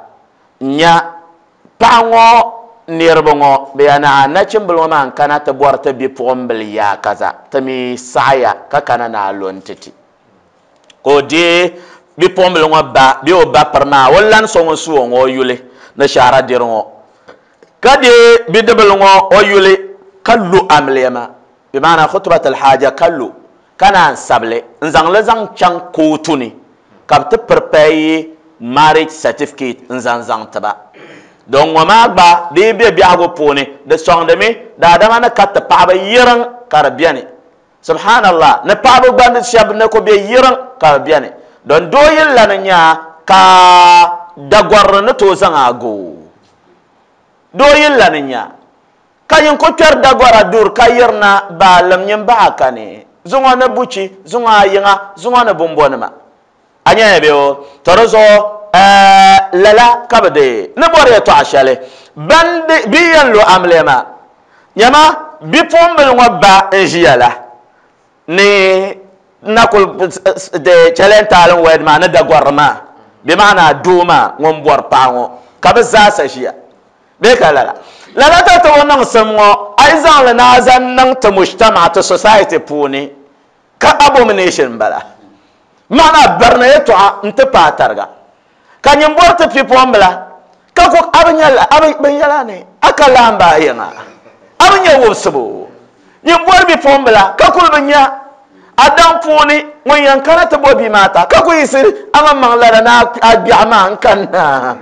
n nya paɣa ŋɔ niriba ŋɔ bɛ yaa na nachimbili ŋɔ maa n kana ti bɔri ti bipuɣimbili yaa kaza ti mi saɣaya ka kana na a lo n ti ti ka o deei bipuɣimbili ŋɔ ba bee o ba piri maa o lani so ŋun su o ŋɔ o yuli ni shahara diri ŋɔ ka deei bidibili ŋɔ o yuli ka lo amiliya maa bi maana khutubatul haja ka lo ka naan sabili n zaŋ li zaŋ chaŋ kootu ni ka bi ti prepare marriage certificate n zaŋ zaŋ tiba don ŋɔ maa gba di yi be biɛhigu puuni di sɔŋdimi daadama ni ka ti paɣaba yiriŋ ka di beni subhanallah ni paɣaba gba ni shɛba ni ku be yiriŋ ka di beni don doo yili la ni nya ka dagɔrili ni tooi zaŋ a go doo yili la ni nya ka nyin ku kpɛri dagɔra duri ka yirina baalim nyin baɣa kani zuŋɔ ni buchi zuŋɔ a yiŋa zuŋɔ ni bumbɔnima a nyɛla bɛ o to di zuɣu lala ka bi deei ni bɔri yɛltɔɣa shɛli ban bi yɛn lo amiliya maa nyama bipuɣimbili ŋɔ ba n ʒiya la ni na kuli de chɛlɛntaalin wɛd maa ni dagɔrili maa bi maana doo maa ŋun bɔri paɣa ŋɔ ka bi zaasa ʒiya bee ka lala lala ta ti o niŋsim ŋɔ a yi zaŋli ni a zaŋ niŋ ti mujtama ti society puuni ka abomination bala maana barina yɛltɔɣa n ti paai tariga ka nyin bɔri ti bipuɣimbila ka ku a bi nyɛla a bi binyɛla ni a ka laamba a yiŋa a bi nyɛ wubisibu nyin bɔri bipuɣimbila ka kuli bi nya a daŋ puuni ŋun yɛn kana ti bo bia maa ta ka ku yiɣisi a maŋmaŋ lala ni a gbiɛɣu maa n kanna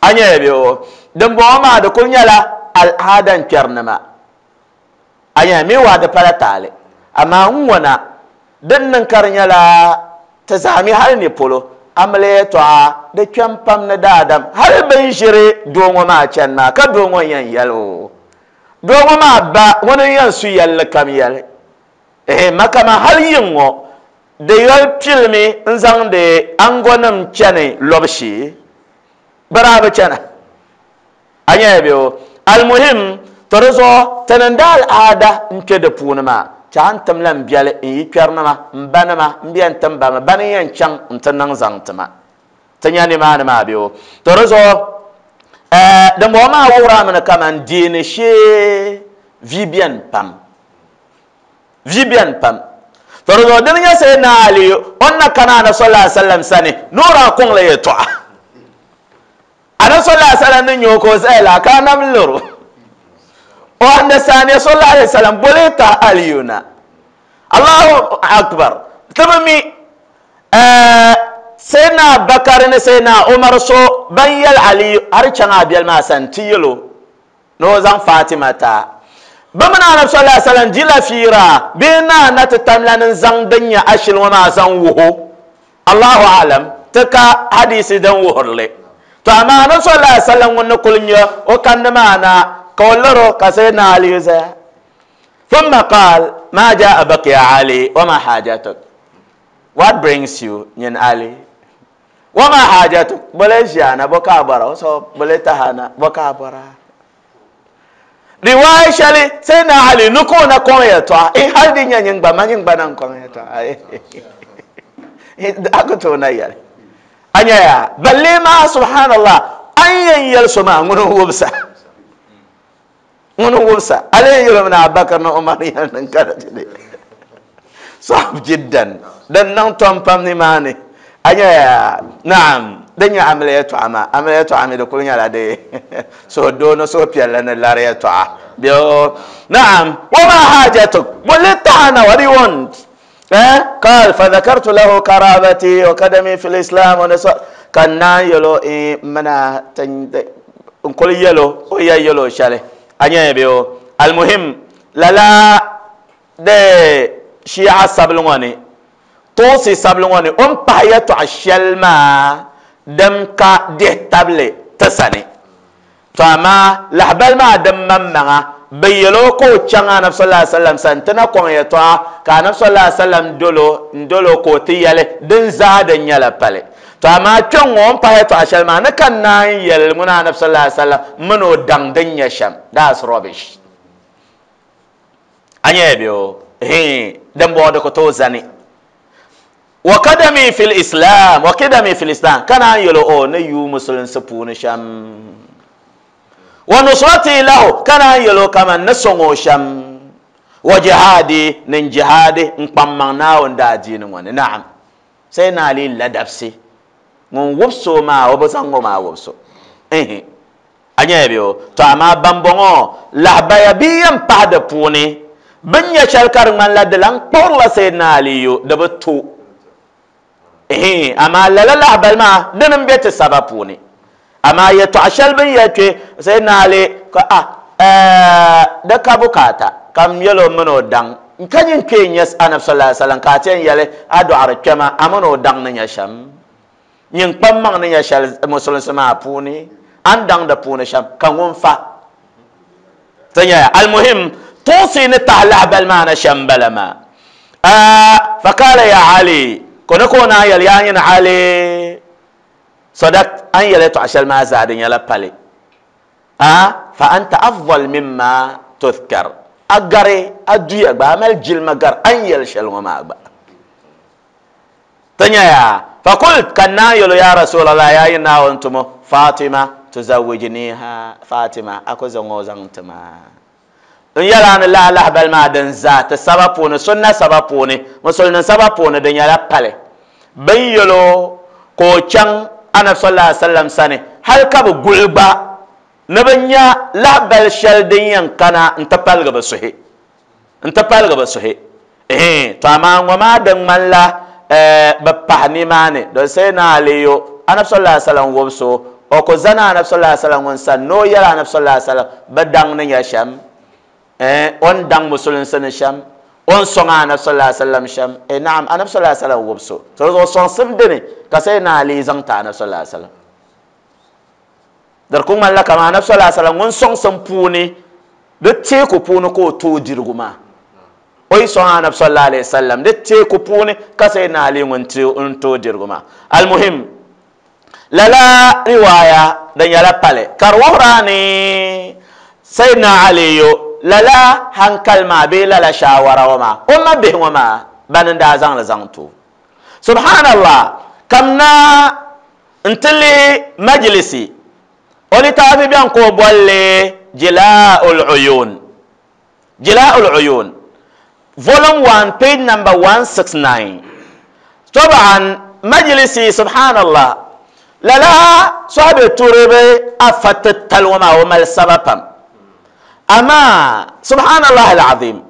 a nyɛla bɛ o dimbɔŋɔ maa di kuli nyɛla al'aada n kpɛri nima a nyɛla mi waa di pala taali amaa n ŋɔna din niŋ ka di nyɛla ti zaa mi hali ni polo amiliya yɛltɔɣa di kpɛm pam ni daadam hali bin ʒiri doo ŋɔ maa chani maa ka doo ŋɔ yɛn yɛli o doo ŋɔ maa ba ŋuni n yɛn su yɛlli kam yɛli ehe makama hali yiŋ ŋɔ di yɔli pilimi n zaŋdi angonim chani lɔbu shee bi daa bi chana a nyɛla bɛ o almuhim to di zuɣu ti niŋdi al'aada n kpɛ di puuni maa chaɣa n tim la n biɛli n yi kpɛrinima n ba nima n bɛn tim ba mi bani n yɛn chaŋ n ti niŋ zaŋ tima ti nya nimaani maa bɛ o to di zuɣu dimbɔŋɔ maa wuhirami ni kaman deeni shee vi bɛni pam vi bɛni pam to di zuɣu dini nyɛ Sayyidina Ali o ni na kana Anabi sallallahu alaihi wasallam sani ni o daa kɔŋ la yɛltɔɣa Anabi sallallahu alaihi wasallam ni nyɛ o ka o zaya la ka Anabi loro o understand sallallahu alaihi wasallam boli ta Aliyu na Allahu akbar ti bi mi Sayyidina Bakari ni Sayyidina Umar so ban yɛli Aliyu har chaŋ a biɛli maa sani ti yɛl o ni o zaŋ Fatima ta bi mini Anabi sallallahu alaihi wasallam dila fiira bee naa na ti tamla ni zaŋ din nyɛ ashili ŋɔ maa zaŋ wuho Allahu alam ti ka hadisi din wuhirili to amaa Anabi sallallahu alaihi wasallam ŋun ni kuli nyɛ o kandi maa na ka o laro ka Sayyidina Ali zaya thumma qaal ma jaa baka ya Ali wa ma hajatuk. What brings you nyin Ali? Wa ma hajatuk bole ʒiana bo ka bɔra o so bole tahana bo ka bɔra riwaaya shɛli Sayyidina Ali ni ka o na kɔŋ yɛltɔɣa in hali di nyɛ nyin gba ma nyin gba na n kɔŋ yɛltɔɣa a ku tooi na yɛli a nyɛ yaa balle maa subhanallah an yɛn yɛli so maa ŋuni n wubisa ŋuni n wubisa ali yɛn yɛli mi ni Abubakar ni Umar yɛli niŋ ka di ti sahab jiddan din niŋ tom pam nimaani a nyɛ yaa naam din nyɛ amiliya yɛltɔɣa maa amiliya yɛltɔɣa mi di kuli nyɛla di suhudoo ni suhupiɛlli ni lari yɛltɔɣa bɛ naam wa ma hajatuk boli tahana what do you want? Eh قال فذكرت له قرابتي وقدمي في الإسلام ونسو كان يلو منا كل يلو ويا يلو شالي أني بيو المهم لا لا ده شيعة سبلوني توسي سبلوني أم بحياته عشال ما دم كا ده تبلي تساني فما لحبل ما دم مما Bi yɛlo ka o chaŋ anabi sallallahu alaihi wasallam sani ti na kɔŋ yɛltɔɣa ka anabi sallallahu alaihi wasallam dolo n dolo ka o ti yɛli din zaa din nyɛla pali. To amaa kpɛŋ ŋɔ n pahi yɛltɔɣa shɛli maa ni ka naan yɛli ŋuni anabi sallallahu alaihi wasallam mini o daŋ din nyɛ shɛm. That's rubbish. A nyɛla bɛ o din bɔŋɔ di ku tooi zani. Wa kadami fil islam, wa kadami fil islam ka naan yɛli o ni yu musulinsi puuni shɛm. Wa nusrati lahu ka naan yɛli o kaman ni sɔŋ o shɛm. Wa jihadi nin jihadi n kpaŋmaŋ Naawuni daadiini ŋɔ ni. Naam, sai na Ali ladabsi ŋun wubso maa o bi zaŋ ŋɔ maa wubso. A nyɛla bɛ o. To amaa bambɔŋɔ lahabaya bi yɛn pahi di puuni bin nyɛ shɛli ka di ŋmanila di lan kpuɣirila Sayyidina Aliyu di bi to. Amaa lala lahabali maa dini n bɛ ti saba puuni. Amaa yɛltɔɣa shɛli bin yɛli kpe Sayyidina Ali ka a di ka bukaata ka n yɛli o mini o daŋ ka nyin kpee nyɛ anabi sallallahu alaihi wasallam ka a ti yɛn yɛli a dɔɣiri kpɛma a mini o daŋ ni nyɛ shɛm, nyin kpaŋmaŋ ni nyɛ shɛli musulinsi maa puuni a ni daŋ di puuni shɛm ka ŋun fa ti nyɛya. Almuhim tuusi ni tahi lahabali maa na shɛm bala maa. Fakala ya Ali ko ni ka o naan yɛli yaa nyini Ali sadak an yɛli yɛltɔɣa shɛli maa zaa di nyɛla pali. Fa anta afdal mimma tudhkar, a gari a duya gba a mali jilima gari an yɛli shɛli ŋɔ maa gba. Ti nyɛya fakult ka naan yɛli ya Rasulallah yaa yi Naawuni tumo Fatima tuzawijniha, Fatima a ku zaŋ o zaŋ ti ma. N yɛla ni laa lahabali maa din zaa ti saba puuni sunna saba puuni musulinin saba puuni di nyɛla pali. Bin yɛli o ka o chaŋ anabi sallallahu alaihi wasallam sani hali ka bi guli gba ni bi nya lahabali shɛli din yɛn kana n ti paligi bi suhi, n ti paligi bi suhi. To amaa ŋɔ maa din ŋmanila bi pahi nimaani don Sayyidina Aliyu anabi sallallahu alaihi wasallam wubso o ku zani anabi sallallahu alaihi wasallam ŋun sani ni o yɛli anabi sallallahu alaihi wasallam bi daŋ ni nyɛ shɛm, o ni daŋ musulinsi ni shɛm, o ni sɔŋ anabi sallallahu alaihi wasallam shɛm. Naam, anabi sallallahu alaihi wasallam wubso to zuɣu sɔŋsim dini ka Sayyidina Ali zaŋ ti anabi sallallahu alaihi wasallam. Di ku ŋmanila kaman anabi sallallahu alaihi wasallam ŋun sɔŋsim puuni di teeku puuni ka o tooi dirigu maa. O yi sɔŋ anabi sallallahu alaihi wasallam di teeku puuni ka Sayyidina Ali ŋun tooi dirigu maa. Almuhim lala riwaaya di nyɛla pali ka di wuhira ni Sayyidina Aliyu lala hankali maa bee lala shaawara ŋɔ maa o ma bihi ŋɔ maa bani n daa zaŋli zaŋ ti o. Subhanallah, kamna n ti lihi majlisi o litaafi bɛni ka o bolli Jila'ul Uyun, Jila'ul Uyun volume one page number one six nine. Taban majlisi subhanallah lala sahabi turibi afa titali ŋɔ maa o mali saba pam. Amaa subhanallah alazim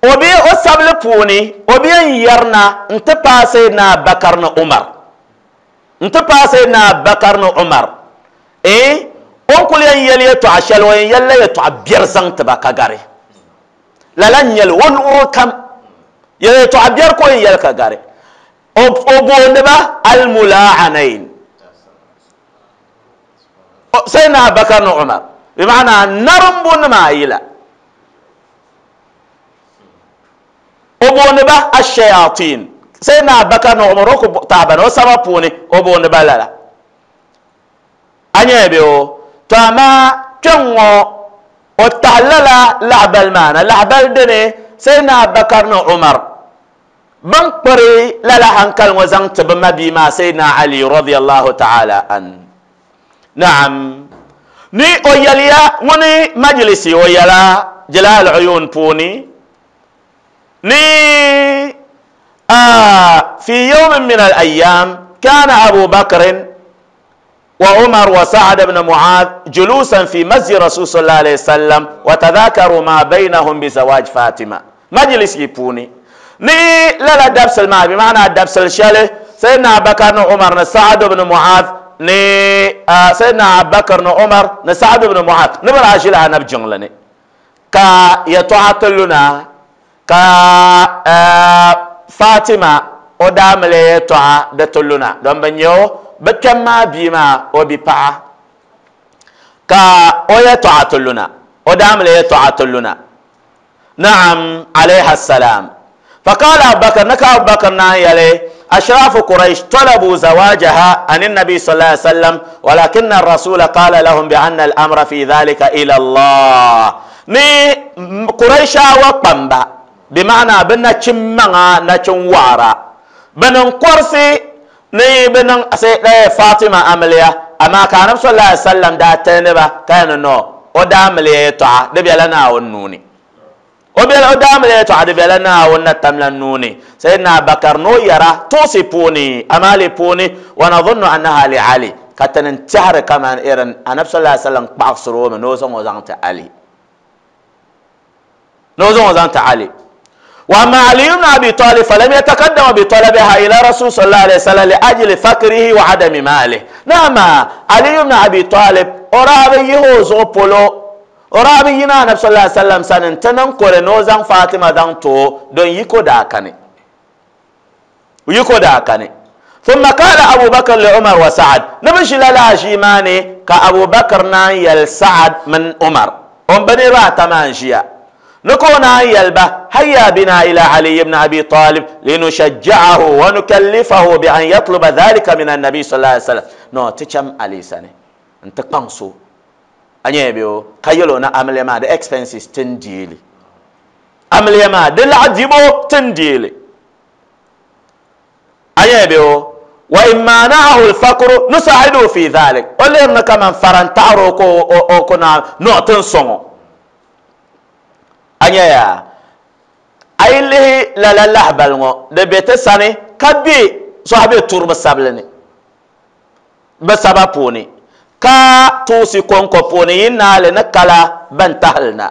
o bi o sabili puuni o bi yɛn yɛrina n ti paai Sayyidina Bakar ni Umar, n ti paai Sayyidina Bakar ni Umar. Eh o ni kuli yɛn yɛli yɛltɔɣa shɛli o yɛn yɛlila yɛltɔɣa biɛri zaŋ ti ba ka gari. Lala n nyɛli o luɣuri kam yɛltɔɣa biɛri ka o yɛn yɛli ka gari. O booni ba almulaanain Sayyidina Bakar ni Umar, bi maana narimbu nima ayi la. O booni ba ashayatin Sayyidina Bakar ni Umar o ku taaba ni o saba puuni o booni ba lala. A nyɛla bɛ o. To amaa kpɛŋ ŋɔ o tahi lala lahabali maa na. Lahabali dini Sayyidina Bakar ni Umar bin kpiri lala hankali ŋɔ zaŋ ti bi ma bia maa Sayyidina Ali radiyallahu ta'ala an. Naam, ni o yɛliya ŋuni majlisi o yɛla Jilal Uyun puuni ni fi yawmin min al-ayyam kana Abu Bakr wa Umar wa Sa'd ibn Mu'adh julusan fi masjid Rasul sallallahu alayhi wasallam wa tadhakaru ma baynahum bi zawaj Fatima. Majlisi puuni ni lala dabsal maa bi maana dabsal shɛli Sayyidina Bakr ni Umar ni Sa'd ibn Mu'adh ni Sayyidina Abubakar ni Umar ni Sa'd ibn Mu'adh ni bi daa ʒila anabi jiŋli ni ka yɛltɔɣa ti luna ka Fatima o daa mali yɛltɔɣa di ti luna don bi nyɛ o bi kpɛm maa bia maa o bi paɣa ka o yɛltɔɣa ti luna. O daamili yɛltɔɣa ti luna. نعم عليها السلام. فقال أبو بكر نكا أبو بكر نايلي أشراف قريش طلبوا زواجها عن النبي صلى الله عليه وسلم، ولكن الرسول قال لهم بأن الأمر في ذلك إلى الله. ني قريش وقنبا بمعنى بنا تشمنا نتشوارا بنا قرسي ني بنا فاطمة أمليا أما كان صلى الله عليه وسلم دا تنبا كان نو وداملي طع دبي لنا ونوني وبيل أدام لي تعد بلنا ونتمل النوني سيدنا بكر نو يرى توصي بوني أمالي بوني ونظن أنها لعلي كتن انتحر كمان إيرن النبي صلى الله عليه وسلم بعصره من نوزن وزنت علي نوزن وزنت علي. وأما علي بن أبي طالب فلم يتقدم بطلبها إلى رسول صلى الله عليه وسلم لأجل فقره وعدم ماله. نعم علي بن أبي طالب أرابي يهوزو بولو orabi yina Nabi sallallahu alaihi wasallam sanin tanan kore nozan Fatima dan to don yiko da kane yiko da kane. ثم قال أبو بكر لعمر وسعد نمشي لا شيماني كأبو بكر نايل سعد من عمر أم بني راتا مانجيا نكون يلبه هيا بنا إلى علي بن أبي طالب لنشجعه ونكلفه بأن يطلب ذلك من النبي صلى الله عليه وسلم. نو تشم علي سنة انت قنصو أنيبيو كيلو نا عملية ما ده expenses تنديلي عملية ما ده العجيبو تنديلي أنيبيو وإن مانعه الفقر نساعده في ذلك وليرنا كمان فرنتارو كو أو كنا نعطين صنو أنيا أي اللي لا لا لا بلغو ده بيتساني كبي صاحبي تورب سابلني بسببوني ka tusi konko puni yinna le nakala ban tahalna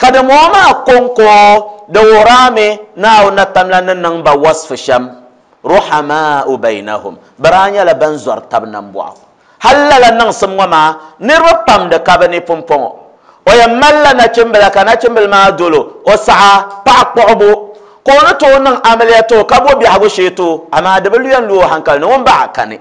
kada moma konko da wurame na na tamlan nan ba wasf sham ruhama bainahum baranya la ban zor tabnan bu'a halala nan summa nirpam da kabani pompon o yamalla na cimbala kana cimbal ma dolo o sa'a pa qobo ko na to nan amaliyato kabo bi hago sheto amma da buluyan lu hankal no ba kane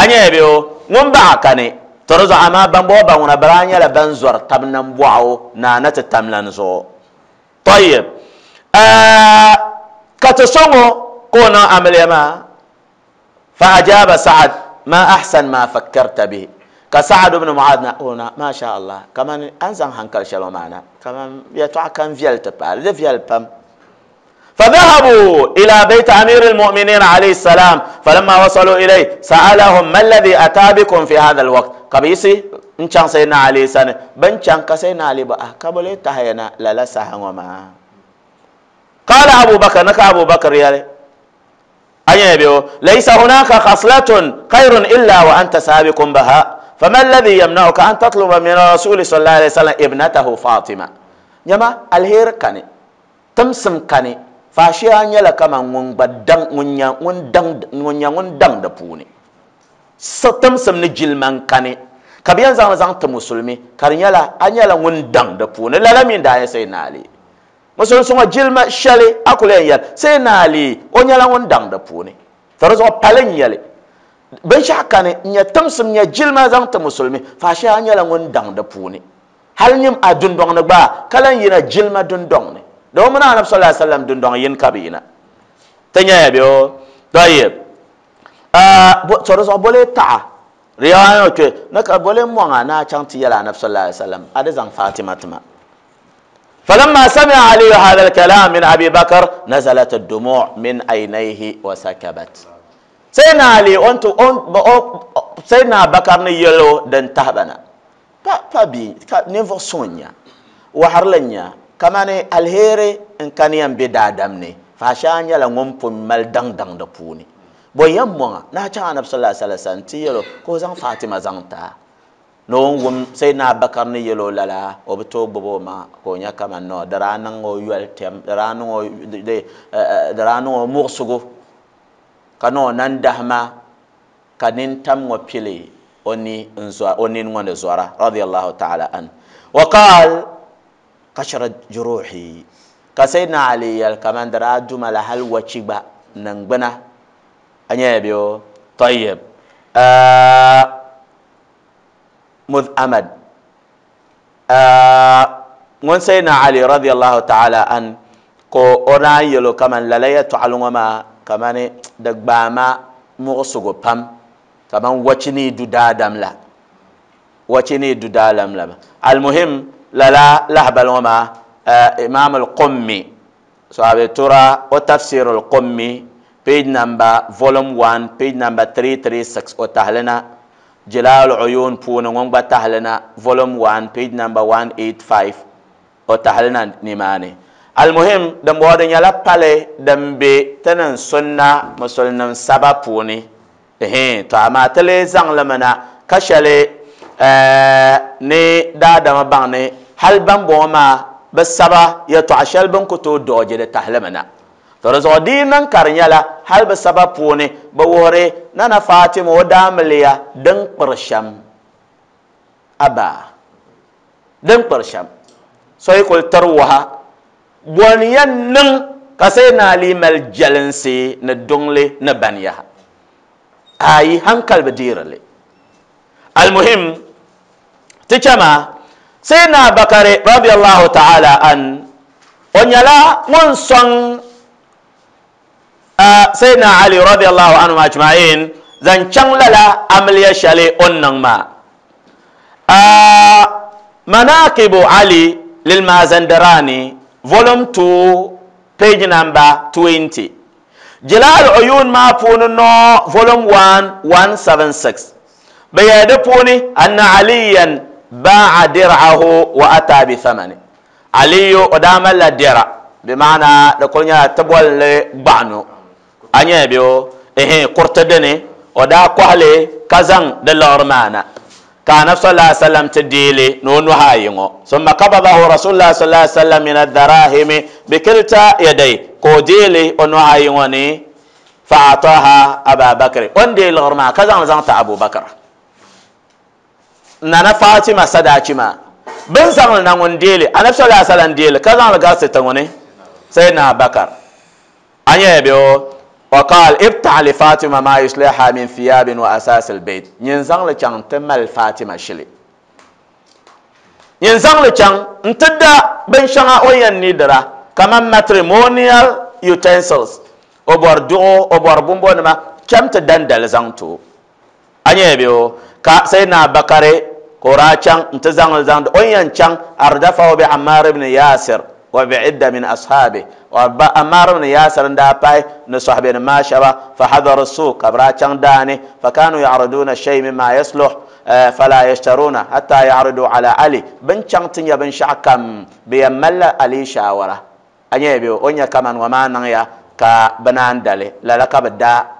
anya biyo ŋun baɣa kani tɔri zuɣu amaa ban bɔ ban ŋuna bara nyɛla ban zɔri tabi nam bɔɣu naa na ti tamlan zuɣu tɔyib ka ti so ŋɔ ka o niŋ amiliya maa fa ajaba Sa'ad ma ahsan ma fakkarta bihi ka Sa'ad ibn Mu'adh na o na ma sha Allah kaman an zaŋ hankali shɛli maa na kaman yɛltɔɣa kam viɛli ti paali di viɛli pam. فذهبوا إلى بيت أمير المؤمنين عليه السلام فلما وصلوا إليه سألهم ما الذي أتى بكم في هذا الوقت قبيسي إن سيدنا علي سنة بن شان كسيدنا علي بقى قبل تهينا لا لا سهما. قال أبو بكر نك أبو بكر يالي أيبيو ليس هناك خصلة خير إلا وأنت سابق بها فما الذي يمنعك أن تطلب من الرسول صلى الله عليه وسلم ابنته فاطمة يما الهير كاني تمسم كاني فاشيا nyɛla kaman ŋun gba daŋ ŋun nya ŋun daŋ ŋun nya ŋun daŋ di puuni timsim ni jilima n kani ka bi yɛn zaŋ zaŋ ti musulmi ka di nyɛla a nyɛla ŋun daŋ di puuni lala min daa nyɛ Sayyidina Ali musulmi ŋɔ jilima shɛli a kuli yɛn yɛli Sayyidina Ali o nyɛla ŋun daŋ di puuni to di zuɣu pali n nyɛli binshaɣu kani n nyɛ timsim nyɛ jilima zaŋ ti musulmi faashia nyɛla ŋun daŋ di puuni hali nyim a dundɔŋ ni gba ka lan yina jilima dundɔŋ ni دو من النبي صلى الله عليه وسلم دون دون ين كابينا تنيا بيو طيب ا تورز بولي تا ريايو كي نك بولي مو انا چانتي يلا النبي صلى الله عليه وسلم ادزان فاطمه تما. فلما سمع علي هذا الكلام من ابي بكر نزلت الدموع من عينيه وسكبت. سيدنا علي انت سيدنا بكر نيلو دن تهبنا با با بي نيفو سونيا وحرلنيا kamani alheri n kani yan be daadam ni faasha nyɛla ŋun pun mali daŋ daŋ di puuni bo yɛn mɔŋa naa chaŋ anabi sallallahu alaihi wasallam ti yɛlo ka o zaŋ Fatima zaŋ taa ni o wum Sayyidina Abubakar ni yɛlo lala o bi tooi gbubi o maŋa ka o nya kaman no di daa niŋ o yoli tɛm di daa niŋ o di daa niŋ o muɣusigu ka ni o nandahima ka nintam ŋɔ pili o ni n o nini ŋɔ ni zɔra radiyallahu ta'ala an wa qaal قشرت جروحي كسيدنا علي كمان درا دوما لهل وشيبا ننغبنا انيا بيو طيب آه مذ امد ŋun Sayyidina Ali radiyallahu ta'ala an ko o daa yɛlo kaman lala yɛltɔɣali ŋɔ maa kamani di gbaama muɣusigu pam kaman wachi ni du daadam la wachi ni du daadam la almuhim lala lahabali ŋɔ maa Imam al-Qummi so a tura o tafsir al-Qummi page number volume one page number three three six o tahlina Jalal Uyun puuni ŋun gba tahlina volume one page number one eight five o tahlina nimaani almuhim din bɔŋɔ di nyɛla pali din be ti niŋ sunna musulnim saba puuni to amaa ti lee zaŋli na ka shɛli ni daadama baŋ ni hali ban bɔŋɔ maa bi saba yɛltɔɣa shɛli bin ku tooi dooji di tahlimi na to di zuɣu di niŋ ka di nyɛla hali bi saba puuni bi wuhiri Nana Fatima o daamiliya din kpiri shɛm aba din kpiri shɛm so yi kuli tiri waha bɔni yɛn niŋ ka Sayyidina Ali mali jalinsi ni duŋli ni baniyaha ayi hankali bi deerili almuhim ti chama Sayyidina Bakari radiyallahu ta'ala an o nyɛla ŋun sɔŋ Sayyidina Ali radiyallahu anhu ajma'in zaŋ chaŋ lala amiliya shɛli o ni niŋ maa Manaqibu Ali lilmazandarani volume two page number twenty Jalal Uyun maa puuni no volume one one seven six bi yɛli di puuni anna aliyan ba'a dir'ahu wa ata bi thamani Aliyu o daa malila dira bi maana di kuli nyɛla ti bolli gbaɣano a nyɛ bɛ o ehe kuriti dini o daa kɔhili ka zaŋ di liɣiri maa na ka anabi sallallahu alaihi wasallam ti deeli ni o nuhi ayi ŋɔ summa qabadahu rasulullah sallallahu alaihi wasallam min ad-darahimi bi kilta yaday ka o deeli o nuhi ayi ŋɔ ni fa ataha Aba Bakr o ni deei liɣiri maa ka zaŋ zaŋ ti Abu Bakr Nana Fatima sadachi maa bin zaŋli na ŋun deeli anabi sallallahu alaihi wasallam deeli ka zaŋli garisi ti ŋuni Sayyidina Bakr a nyɛ bɛ o وقال ابتع لفاطمة ما يصلحها من ثياب وأساس البيت ينزل لچان تمال فاطمة شلي ينزل لچان انتدا بن شغا وين ندرا كما matrimonial utensils obor duo obor bumbo nima cham te dandal zangto anye biyo ka Sayyidina Bakare ko ra chan nta zangal zang o yan chan ardafa bi Ammar ibn Yasir wa bi idda min ashabi wa Ammar ibn Yasir nda pay ni sahbi ma shaba fa hadar suq abra chan dani fa kanu ya'riduna shay mimma yasluh fala yashtaruna hatta ya'ridu ala Ali bin chan tinya bin shakam bi yamalla Ali shawara anye biyo onya kaman wa ma nan ya ka banan dale la la ka da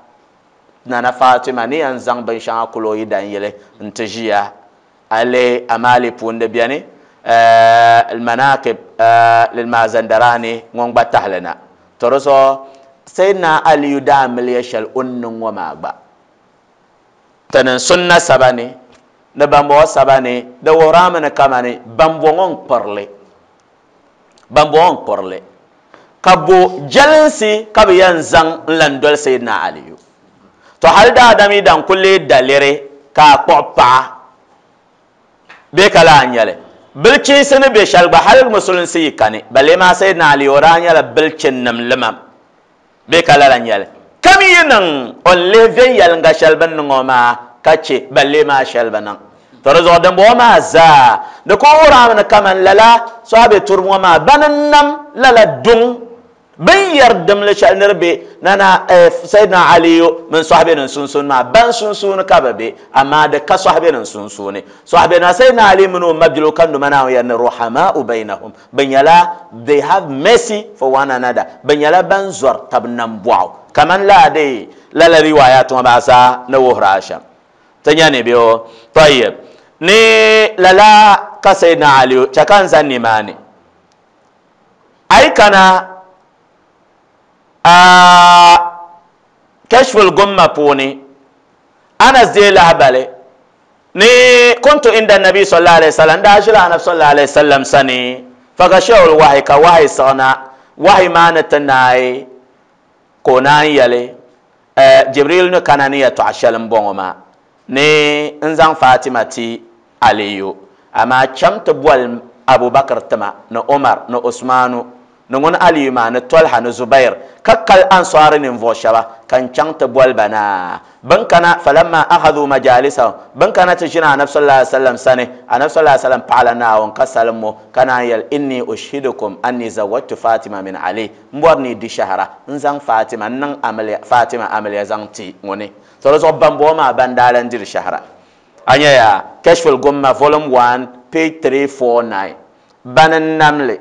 Nana Fatima ni yan zaŋ binshɛŋa kulo yi dan yili n-ti ʒiya ale amali puuni beni almanaqib lilmazandarani ŋun gba tahili na to di zuɣu Sayyidina Aliyu daa miliya shɛli o ni niŋ ŋɔ maa gba ti niŋ sunna saba ni ni bambɔŋɔ saba ni di wuhirami ni kamani bambɔŋɔ n-kpirili bambɔŋɔ n-kpirili ka bo jalinsi ka bɛ yɛn zaŋ n-lan doli Sayyidina Aliyu to hal daadam yi dan kuli daliri ka a kpuɣi paɣa bee ka laa nyɛli bilchinsi ni be shɛli gba hali musulinsi yi kani balee maa Sayyidina Ali o daa nyɛla bilchinnim limam bee ka lala nyɛli kam yi niŋ o ni lihi viɛnyɛliŋga shɛli bini niŋ o maa ka che balee maa shɛli bi niŋ to di zuɣu dimbɔŋɔ maa zaa di ku wuhirami ni kaman lala sɔhabi turiba ŋɔ maa bani n-nam lala duŋ bin yɛri dimli shɛli ni di be nana Sayyidina Aliyu mini sɔhibe nim sunsuuni maa ban sunsuuni ka bi be amaa di ka sɔhibe nim sunsuuni sɔhibe na Sayyidina Ali mini o mabilo ka numa Naawuni yɛri ni ruhamau bainahum bi nyɛla they have mercy for one another bi nyɛla ban zɔri tabi nambɔɣu kaman laadi lala riwaayat ŋɔ maa zaa ni wuhiri a shɛm ti nya ni bɛ o tayib ni lala ka Sayyidina Aliyu chɛ ka n zani nimaani ayi kana kashful gumma puuni Anas dee lahabali ni kuntu inda nabi sallallahu alaihi wasallam daa ʒila anabi sallallahu alaihi wasallam sani faghashahu alwahyi ka wahyi siɣina wahyi maa ni ti naai ka o naan yɛli Jibril ni kana ni yɛltɔɣa shɛli n bɔŋɔ maa ni n zaŋ Fatima ti Aliyu Amaa cham ti boli Abubakar tima ni Umar ni Usmanu ni ŋun Aliyu maa ni Talha ni Zubair ka kali Ansaari ninvuɣu shɛba ka n chaŋ ti boli ba na. Bin kana falamma akhadhu majalisahum, bin kana ti ʒini Anabi sallallahu alaihi wasallam sani, Anabi sallallahu alaihi wasallam paɣala Naawuni ka salimmo ka naan yɛli inni ushhidukum anni zawajtu Fatima min Ali, n bɔri ni di shahara n zaŋ Fatima n niŋ amiliya Fatima amiliya zaŋ ti ŋuni. To di zuɣu bambɔŋɔ maa ban daa lan diri shahara. A nya yaa Kashful Gumma volume one page three four nine bani n namli.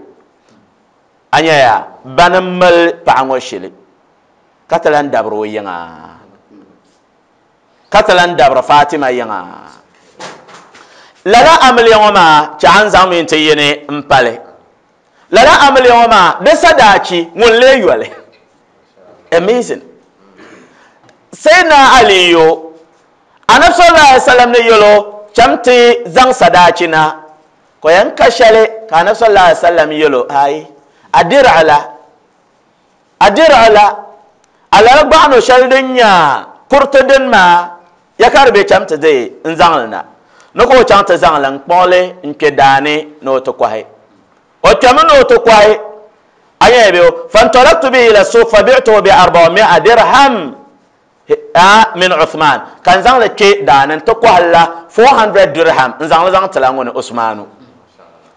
A nya yaa bani n mali paɣa ŋɔ shili ka ti lan dabiri o yiŋa, ka ti lan dabiri Fatima yiŋa. Lala amiliya ŋɔ maa chɛ a ni zaŋ mi n-ti yini n pali. Lala amiliya ŋɔ maa di sadaachi ŋun lee yoli. Amazing. Sayyidina Aliyu Anabi sallallahu alaihi wasallam ni yɛlo cham ti zaŋ sadaachi na ko yɛn ka shɛli ka Anabi sallallahu alaihi wasallam yɛlo ai adir'ala adir'ala alala gbaɣano shɛli din nya kuriti din maa ya ka di be cham ti di n zaŋli na ni ka o chaŋ ti zaŋli n kpuɣili n kpe daani ni o ti kɔhi. O kpɛmi ni o ti kɔhi a nya be fantalaktu bihi ila suq fabi'tuhu bi arba'umi'a dirham min Uthman, ka n zaŋli kpe daani n ti kɔhi la four hundred dirham n zaŋli zaŋ tila ŋuni Usmanu,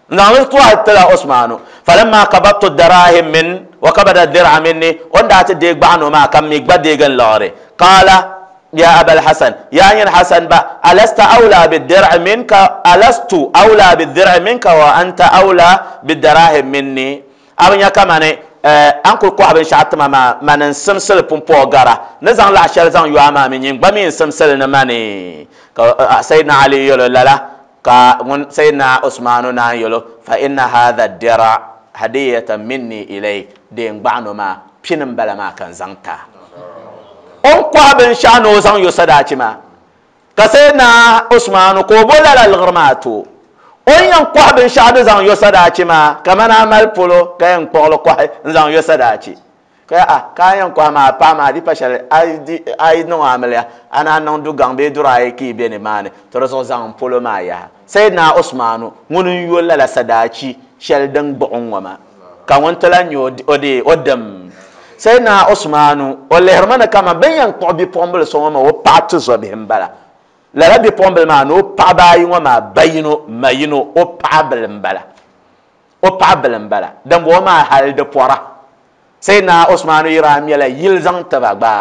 n zaŋli kɔhi tila Usmanu. Falamma qabadtu darahim min wa qabada dir'a minni, o ni daa ti deei gbaɣano maa ka mi gba deegi n liɣiri. Qala ya Abal Hasan, ya nyin Hasan ba, alasta awla bid-dir'i minka, alastu awla bid-dir'i minka wa anta awla bid-darahim minni. A bi nya kamani an kuli kɔhi binshɛɣu tima maa mani n simsili pumpɔɔ gara ni zaŋ laɣa shɛli zaŋ yo a maa mi nyin gba mi n simsili ni mani. Ka Sayyidina Ali yɛlo lala ka ŋun Sayyidina Usmanu naan yɛlo fa inna hadha ad-dir'a hadiyatan minni ilayk, deen gbaɣano maa pini n bala maa ka n zaŋ ta. O ni kɔhi binshɛɣu ni o zaŋ yo sadaachi maa ka Sayyidina Usmanu ka o bo lala liɣiri maa to o ni yɛn kɔhi binshɛɣu di zaŋ yo sadaachi maa kamani a mali polo ka yɛn kpuɣili kɔhi n zaŋ yo sadaachi ka ya a ka a yɛn kɔhi maa paɣa maa di pa shɛli a yi niŋ amiliya a naan niŋ du gaŋ bee duri ayi ka yi be nimaani to di zuɣu zaŋ polo maa yaha. Sayyidina Usmanu ŋuni n yo lala sadaachi shɛli din gbuɣi ŋɔ maa ka ŋun ti lan nyɛ o dee o dim. Sayyidina Usmanu o lihirimi ni kaman bɛ ni yɛn kpuɣi bipuɣimbila so ŋɔ maa o paɣa tuzobihi m-bala. Lala bipuɣimbila maa ni o paɣaba ayi ŋɔ maa ba yino ma yino o paɣa bili m-bala, o paɣa bili m-bala. Dimbɔŋɔ maa hali di pɔra. Sayyidina Usmanu yi daa mɛla yili zaŋ tiba gba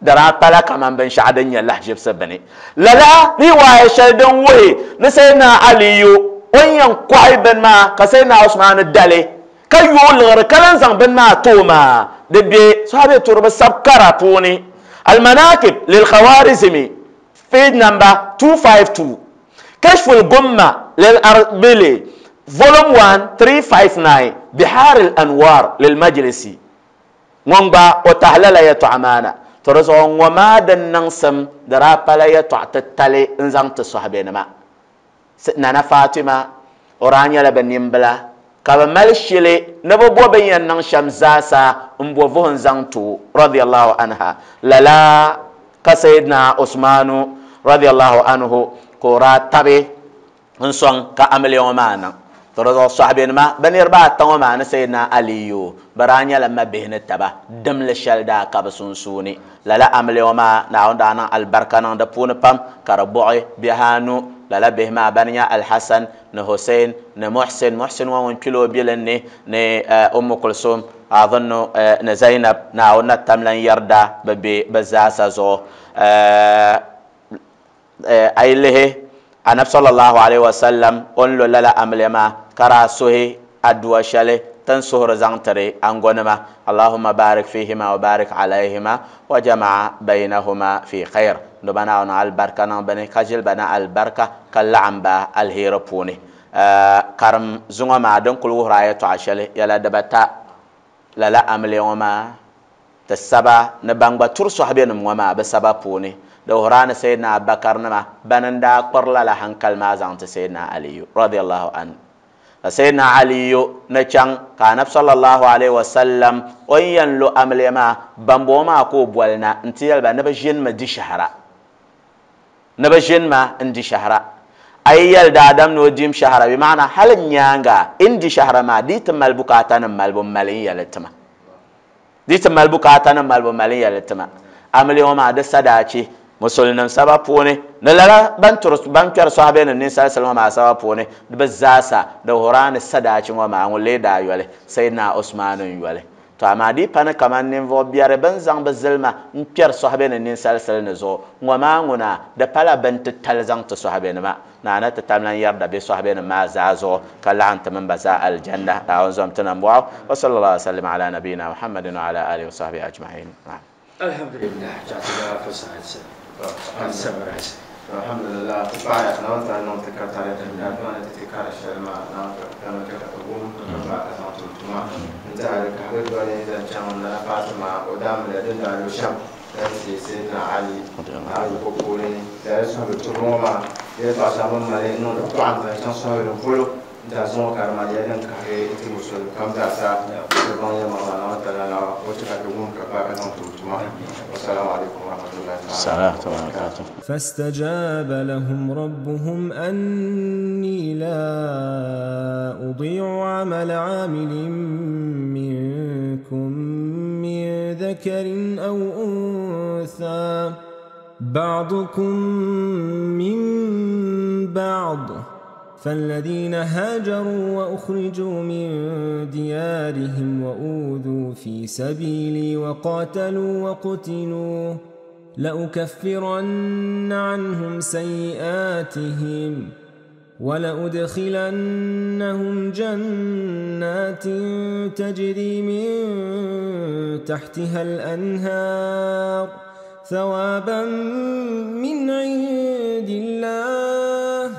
di daa pala kaman binshɛɣu din nyɛ lahaʒibisi bini. Lala riwaaya shɛli din wuhi ni Sayyidina Aliyu o ni yɛn kɔhi bini maa ka Sayyidina Usmanu dali ka yooi liɣiri ka lan zaŋ bini maa ti o maa di be sahabi turiba sab kara puuni Al-Manaqib lil-Khawarizmi page number two five two, Kashful Gumma lil-Arbili volume one three five nine, Bihar al-Anwar lil-Majlisi. Ŋun gba o tahi lala yɛltɔɣa maa na. To di zuɣu ŋɔ maa din niŋsim di daa pala yɛltɔɣa titali n zaŋ ti sɔhibenima. Nana Fatima o daa nyɛla bɛ nimbila ka bɛ mali shili ni bɛ bo bin yɛn niŋ shɛm zaasa n bo vuhim zaŋ ti o radiyallahu anha. Lala ka Sayyidina Usmanu radiyallahu anhu ka o daa tabi n sɔŋ ka amiliya ŋɔ maa niŋ. To di zuɣu sɔhibenima bɛ niriba ata ŋɔ maa ni Sayyidina Aliyu bɛ daa nyɛla mabihi ni taba dimli shɛli daa ka bɛ sunsuuni. Lala amiliya ŋɔ maa Naawuni daa niŋ alibarika niŋ di puuni pam ka di buɣi bihi anu. Lala bihi maa bani nyɛ Al-Hasan ni Hussein ni Muhsin. Muhsin ŋɔ ŋun kpila o bilinni ni Ummu Kulsum adhunnu ni Zainab. Naawuni na tam lan yɛrida bɛ be bɛ zaasa zuɣu. A yi lihi Anabi sallallahu alaihi wasallam o ni lo lala amiliya maa ka daa suhi aduwa shɛli tin suhuri zaŋ tiri angonima Allahumma barik fihima wa barik alayhima wa jama'a baynahuma fi khair. Ndoba Naawuni albarka niŋ bini ka ʒili ba na albarka ka laɣim ba alheri puuni. Karim zuŋɔ maa din kuli wuhiri a yɛltɔɣa shɛli yɛla dibata lala amiliya ŋɔ maa ti saba ni ban gba turi sɔhibenima ŋɔ maa bɛ saba puuni. Di wuhiri a ni Sayyidina Abubakar nima bani n daa kpiri lala hankali maa zaŋ ti Sayyidina Aliyu radiyallahu anhu. Ka Sayyidina Aliyu ni chaŋ ka Anabi sallallahu alaihi wasallam o ni yɛn lo amiliya maa bambɔŋɔ maa ka o boli na n ti yɛli ba ni bɛ ʒinimi di shahara, ni bɛ ʒinima n di shahara. Ay yɛli daadam ni o dim shahara bi maana hali nyaanga in di shahara maa di ti mali bukaata nim malibu mali n yɛli tima di ti mali bukaata nim malibu mali n yɛli tima amili ŋɔ maa di sadaachi musulnim saba puuni ni lala ban turi ban kpɛri sɔhibe ni ninsal sili ŋɔ maa saba puuni di bi zaasa di huraani sadaachi ŋɔ maa ŋun lee daa yɔli Sayyidina Usman n yɔli to amaa di pani kaman ninvuɣu biɛri bin zaŋ bi zilima n kpɛri sɔhibe ni ninsal sili ni zuɣu ŋɔ maa ŋuna di pala bin titali zaŋ ti sɔhibe nima naana ti tam lan yɛrida bɛ sɔhibe nim maa zaa zuɣu ka laɣim ti mini ba zaa aljanna Naawuni zom ti nambɔɣu wa sallallahu alaihi wa sallam ala nabiyina Muhammadin wa ala alihi wa sahbihi ajma'in. Alhamdulillah jazaka fasahat sabras. Alhamdulillah baya na wata nan ta katare da ya ma ta kara sharma na ta na ta ta gum ba ta san tuma ta da ka ga ne da can na Fatima o da mu da din da lo sham da sai sai na Ali Ali ko ko ne da su ha to roma ya ta sa mun mare no da to an da can so ro polo da zo karma ya dan ka he iti musul kam da sa da ban ya ma na ta na o ta ka gum ka ba ka san tuma. Assalamu alaikum wa rahmatullahi wa barakatuh. فاستجاب لهم ربهم أني لا أضيع عمل عامل منكم من ذكر أو أنثى بعضكم من بعض فالذين هاجروا وأخرجوا من ديارهم وأوذوا في سبيلي وقاتلوا وقتلوا لأكفرن عنهم سيئاتهم ولأدخلنهم جنات تجري من تحتها الأنهار ثوابا من عند الله